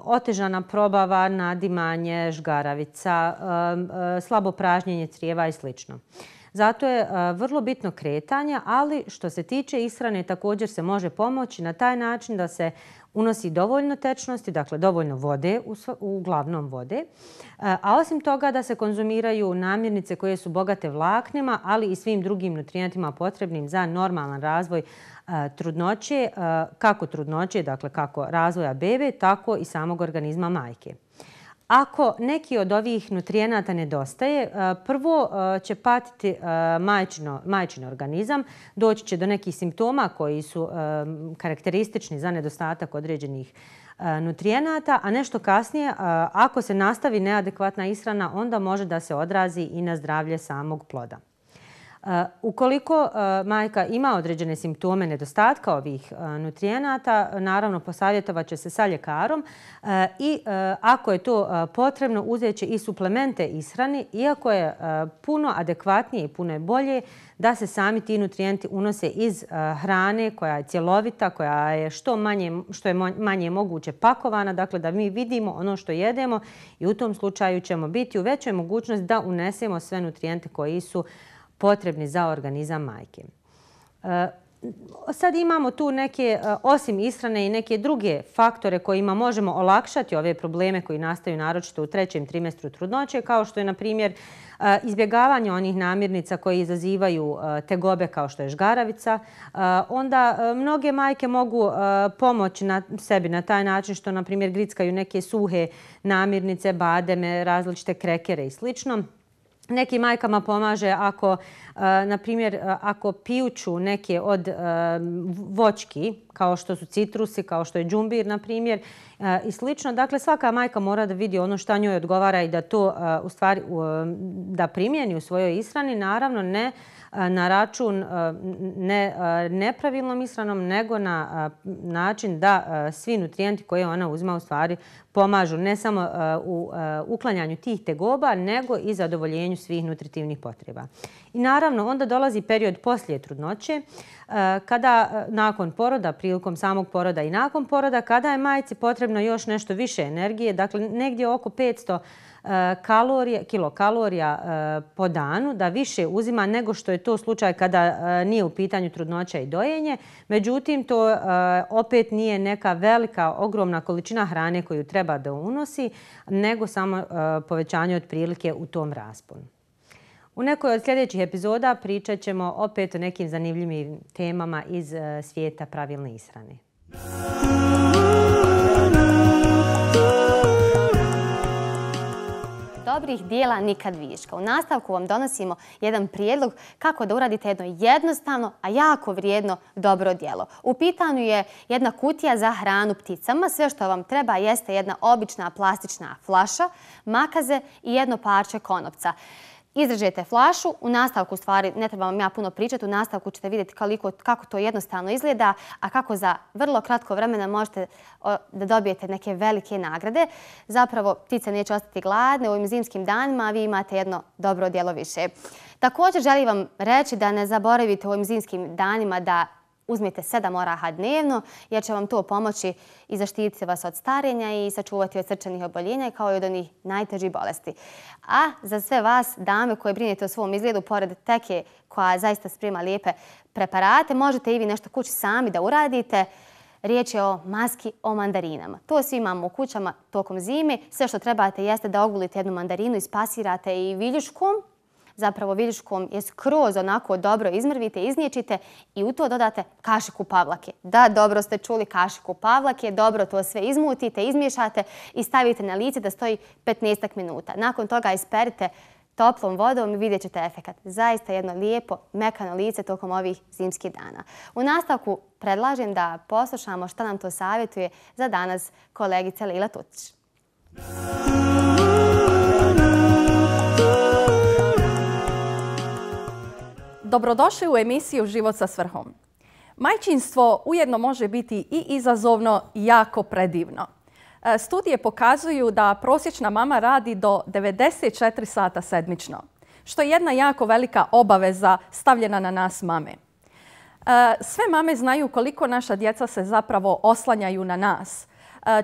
Speaker 6: otežana probava, nadimanje, žgaravica, slabo pražnjenje crijeva i sl. Zato je vrlo bitno kretanje, ali što se tiče ishrane također se može pomoći na taj način da se unosi dovoljno tečnosti, dakle dovoljno vode, uglavnom vode, a osim toga da se konzumiraju namirnice koje su bogate vlaknima, ali i svim drugim nutrijentima potrebnim za normalan razvoj trudnoće, kako trudnoće, dakle kako razvoja bebe, tako i samog organizma majke. Ako neki od ovih nutrijenata nedostaje, prvo će patiti majčin organizam, doći će do nekih simptoma koji su karakteristični za nedostatak određenih nutrijenata, a nešto kasnije, ako se nastavi neadekvatna ishrana, onda može da se odrazi i na zdravlje samog ploda. Ukoliko majka ima određene simptome nedostatka ovih nutrijenata, naravno posavjetovat će se sa ljekarom i ako je to potrebno uzet će i suplemente ishrani, iako je puno adekvatnije i puno je bolje da se sami ti nutrijenti unose iz hrane koja je cjelovita, koja je što je manje moguće pakovana, dakle da mi vidimo ono što jedemo i u tom slučaju ćemo biti u većoj mogućnosti da unesemo sve nutrijente koji su potrebni za organizam majke. Sad imamo tu neke, osim ishrane, i neke druge faktore kojima možemo olakšati ove probleme koji nastaju naročito u 3. trimestru trudnoće, kao što je, na primjer, izbjegavanje onih namirnica koje izazivaju tegobe kao što je žgaravica. Onda mnoge majke mogu pomoći sebi na taj način što, na primjer, grickaju neke suhe namirnice, bademe, različite krekere i slično. Nekim majkama pomaže ako, na primjer, ako pijuću neke od voćki, kao što su citrusi, kao što je džumbir, na primjer, i slično. Dakle, svaka majka mora da vidi ono šta njoj odgovara i da to u stvari da primijeni u svojoj ishrani, naravno ne na račun nepravilnom ishranom, nego na način da svi nutrijenti koje ona uzima u stvari pomažu ne samo u uklanjanju tih tegoba, nego i zadovoljenju svih nutritivnih potreba. I naravno, onda dolazi period poslije trudnoće, kada nakon poroda, prilikom samog poroda i nakon poroda, kada je majci potrebno još nešto više energije, dakle negdje oko 500 kilokalorija po danu, da više uzima nego što je to slučaj kada nije u pitanju trudnoća i dojenje. Međutim, to opet nije neka velika, ogromna količina hrane koju treba da unosi, nego samo povećanje otprilike u tom rasponu. U nekoj od sljedećih epizoda pričat ćemo opet o nekim zanimljivim temama iz svijeta pravilne ishrane.
Speaker 1: Dobrih dijela nikad viška. U nastavku vam donosimo jedan prijedlog kako da uradite jedno jednostavno, a jako vrijedno dobro djelo. U pitanju je jedna kutija za hranu pticama. Sve što vam treba jeste jedna obična plastična flaša, makaze i jedno parče konopca. Izrežete flašu, u nastavku stvari ne treba vam ja puno pričati, u nastavku ćete vidjeti kako to jednostavno izgleda, a kako za vrlo kratko vremena možete da dobijete neke velike nagrade. Zapravo, ptice neće ostati gladne u ovim zimskim danima, a vi imate jedno dobro djelo više. Također želim vam reći da ne zaboravite u ovim zimskim danima da uzmite 7 oraha dnevno, jer će vam to pomoći i zaštititi vas od starenja i sačuvati od srčanih oboljenja kao i od onih najtežih bolesti. A za sve vas, dame koje brinete o svom izgledu, pored teke koja zaista sprema lijepe preparate, možete i vi nešto kući sami da uradite. Riječ je o maski o mandarinama. To svi imamo u kućama tokom zime. Sve što trebate jeste da ogulite jednu mandarinu, ispasirate i viljuškom. Zapravo viljuškom je skroz onako dobro izmrvite, izniječite i u to dodate kašiku pavlake. Da, dobro ste čuli, kašiku pavlake, dobro to sve izmutite, izmiješate i stavite na lice da stoji 15 minuta. Nakon toga isperite toplom vodom i vidjet ćete efekat. Zaista jedno lijepo, mekano lice tokom ovih zimskih dana. U nastavku predlažem da poslušamo šta nam to savjetuje za danas kolegica Lila Tutić.
Speaker 7: Dobrodošli u emisiju Život sa svrhom. Majčinstvo ujedno može biti i izazovno i jako predivno. Studije pokazuju da prosječna mama radi do 94 sata sedmično, što je jedna jako velika obaveza stavljena na nas mame. Sve mame znaju koliko naša djeca se zapravo oslanjaju na nas.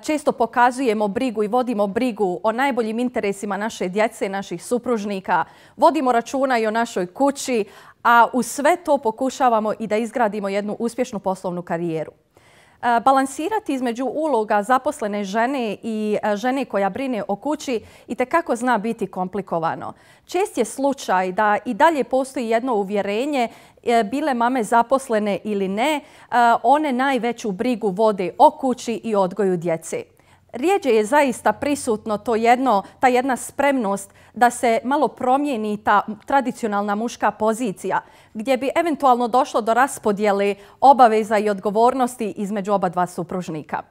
Speaker 7: Često pokazujemo brigu i vodimo brigu o najboljim interesima naše djece, naših supružnika, vodimo računa i o našoj kući, a uz sve to pokušavamo i da izgradimo jednu uspješnu poslovnu karijeru. Balansirati između uloga zaposlene žene i žene koja brine o kući itekako zna biti komplikovano. Čest je slučaj da i dalje postoji jedno uvjerenje, bile mame zaposlene ili ne, one najveću brigu vode o kući i odgoju djece. Rijeđe je zaista prisutno ta jedna spremnost da se malo promijeni ta tradicionalna muška pozicija, gdje bi eventualno došlo do raspodjele obaveza i odgovornosti između oba dva supružnika.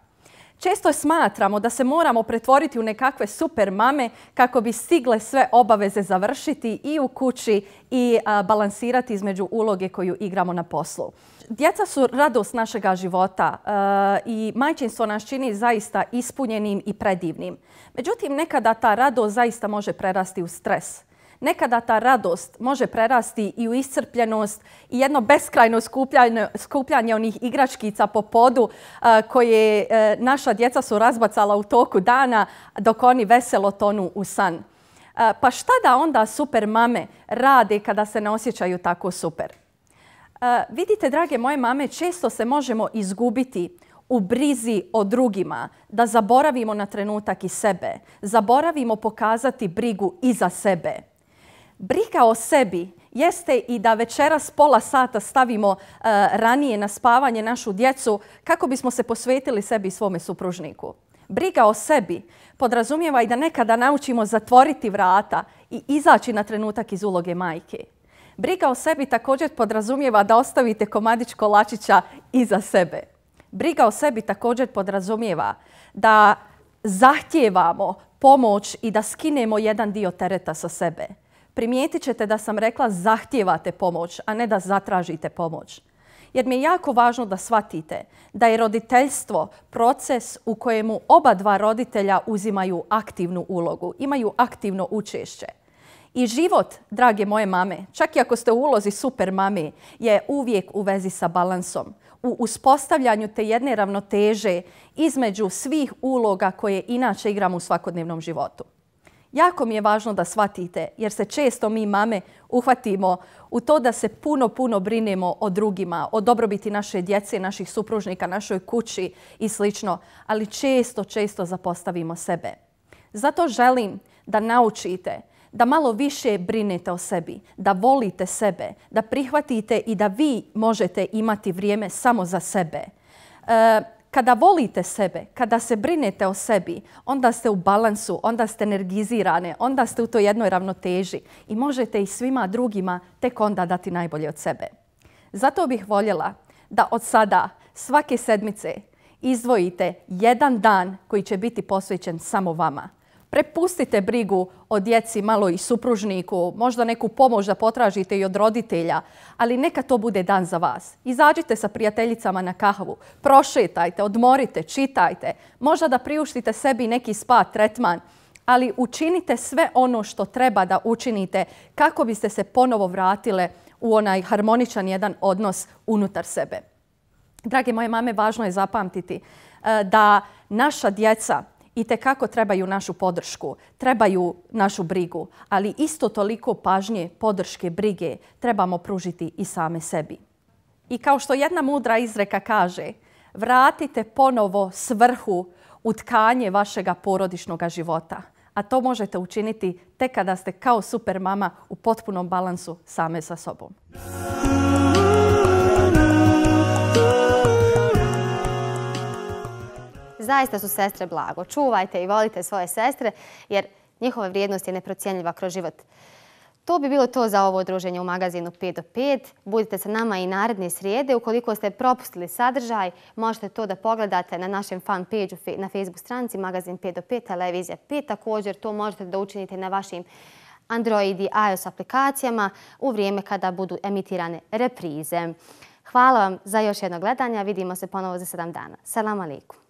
Speaker 7: Često smatramo da se moramo pretvoriti u nekakve super mame kako bi stigle sve obaveze završiti i u kući i balansirati između uloge koju igramo na poslu. Djeca su radost našega života i majčinstvo nas čini zaista ispunjenim i predivnim. Međutim, nekada ta radost zaista može prerasti u stres. Nekada ta radost može prerasti i u iscrpljenost i jedno beskrajno skupljanje onih igračkica po podu koje naša djeca su razbacala u toku dana dok oni veselo tonu u san. Pa šta da onda super mame rade kada se ne osjećaju tako super? Vidite, drage moje mame, često se možemo izgubiti u brizi o drugima, da zaboravimo na trenutak i sebe, zaboravimo pokazati brigu i za sebe. Briga o sebi jeste i da večeras pola sata stavimo ranije na spavanje našu djecu kako bismo se posvetili sebi i svome supružniku. Briga o sebi podrazumijeva i da nekada naučimo zatvoriti vrata i izaći na trenutak iz uloge majke. Briga o sebi također podrazumijeva da ostavite komadić kolačića iza sebe. Briga o sebi također podrazumijeva da zahtijevamo pomoć i da skinemo jedan dio tereta sa sebe. Primijetit ćete da sam rekla zahtijevate pomoć, a ne da zatražite pomoć. Jer mi je jako važno da shvatite da je roditeljstvo proces u kojemu oba dva roditelja uzimaju aktivnu ulogu, imaju aktivno učešće. I život, drage moje mame, čak i ako ste u ulozi super mame, je uvijek u vezi sa balansom, u uspostavljanju te jedne ravnoteže između svih uloga koje inače igramo u svakodnevnom životu. Jako mi je važno da shvatite, jer se često mi mame uhvatimo u to da se puno brinemo o drugima, o dobrobiti naše djece, naših supružnika, našoj kući i sl. Ali često zapostavimo sebe. Zato želim da naučite da malo više brinete o sebi, da volite sebe, da prihvatite i da vi možete imati vrijeme samo za sebe. Kada volite sebe, kada se brinete o sebi, onda ste u balansu, onda ste energizirane, onda ste u toj jednoj ravnoteži i možete i svima drugima tek onda dati najbolje od sebe. Zato bih voljela da od sada svake sedmice izdvojite jedan dan koji će biti posvećen samo vama. Prepustite brigu o djeci, malo i supružniku, možda neku pomoć da potražite i od roditelja, ali neka to bude dan za vas. Izađite sa prijateljicama na kahvu, prošetajte, odmorite, čitajte, možda da priuštite sebi neki spa tretman, ali učinite sve ono što treba da učinite kako biste se ponovo vratile u onaj harmoničan jedan odnos unutar sebe. Drage moje mame, važno je zapamtiti da naša djeca itekako trebaju našu podršku, trebaju našu brigu, ali isto toliko pažnje, podrške, brige trebamo pružiti i same sebi. I kao što jedna mudra izreka kaže, vratite ponovo svrhu u tkanje vašega porodičnog života. A to možete učiniti tek kada ste kao super mama u potpunom balansu same sa sobom.
Speaker 1: Zaista su sestre blago. Čuvajte i volite svoje sestre jer njihova vrijednost je neprocjenljiva kroz život. To bi bilo to za ovo druženje u magazinu 5 do 5. Budite sa nama i naredne srijede. Ukoliko ste propustili sadržaj, možete to da pogledate na našem fan page na Facebook stranici magazin 5 do 5, televizija 5. Također to možete da učinite na vašim Android i iOS aplikacijama u vrijeme kada budu emitirane reprize. Hvala vam za još jedno gledanje. Vidimo se ponovo za 7 dana. Selam alejkum.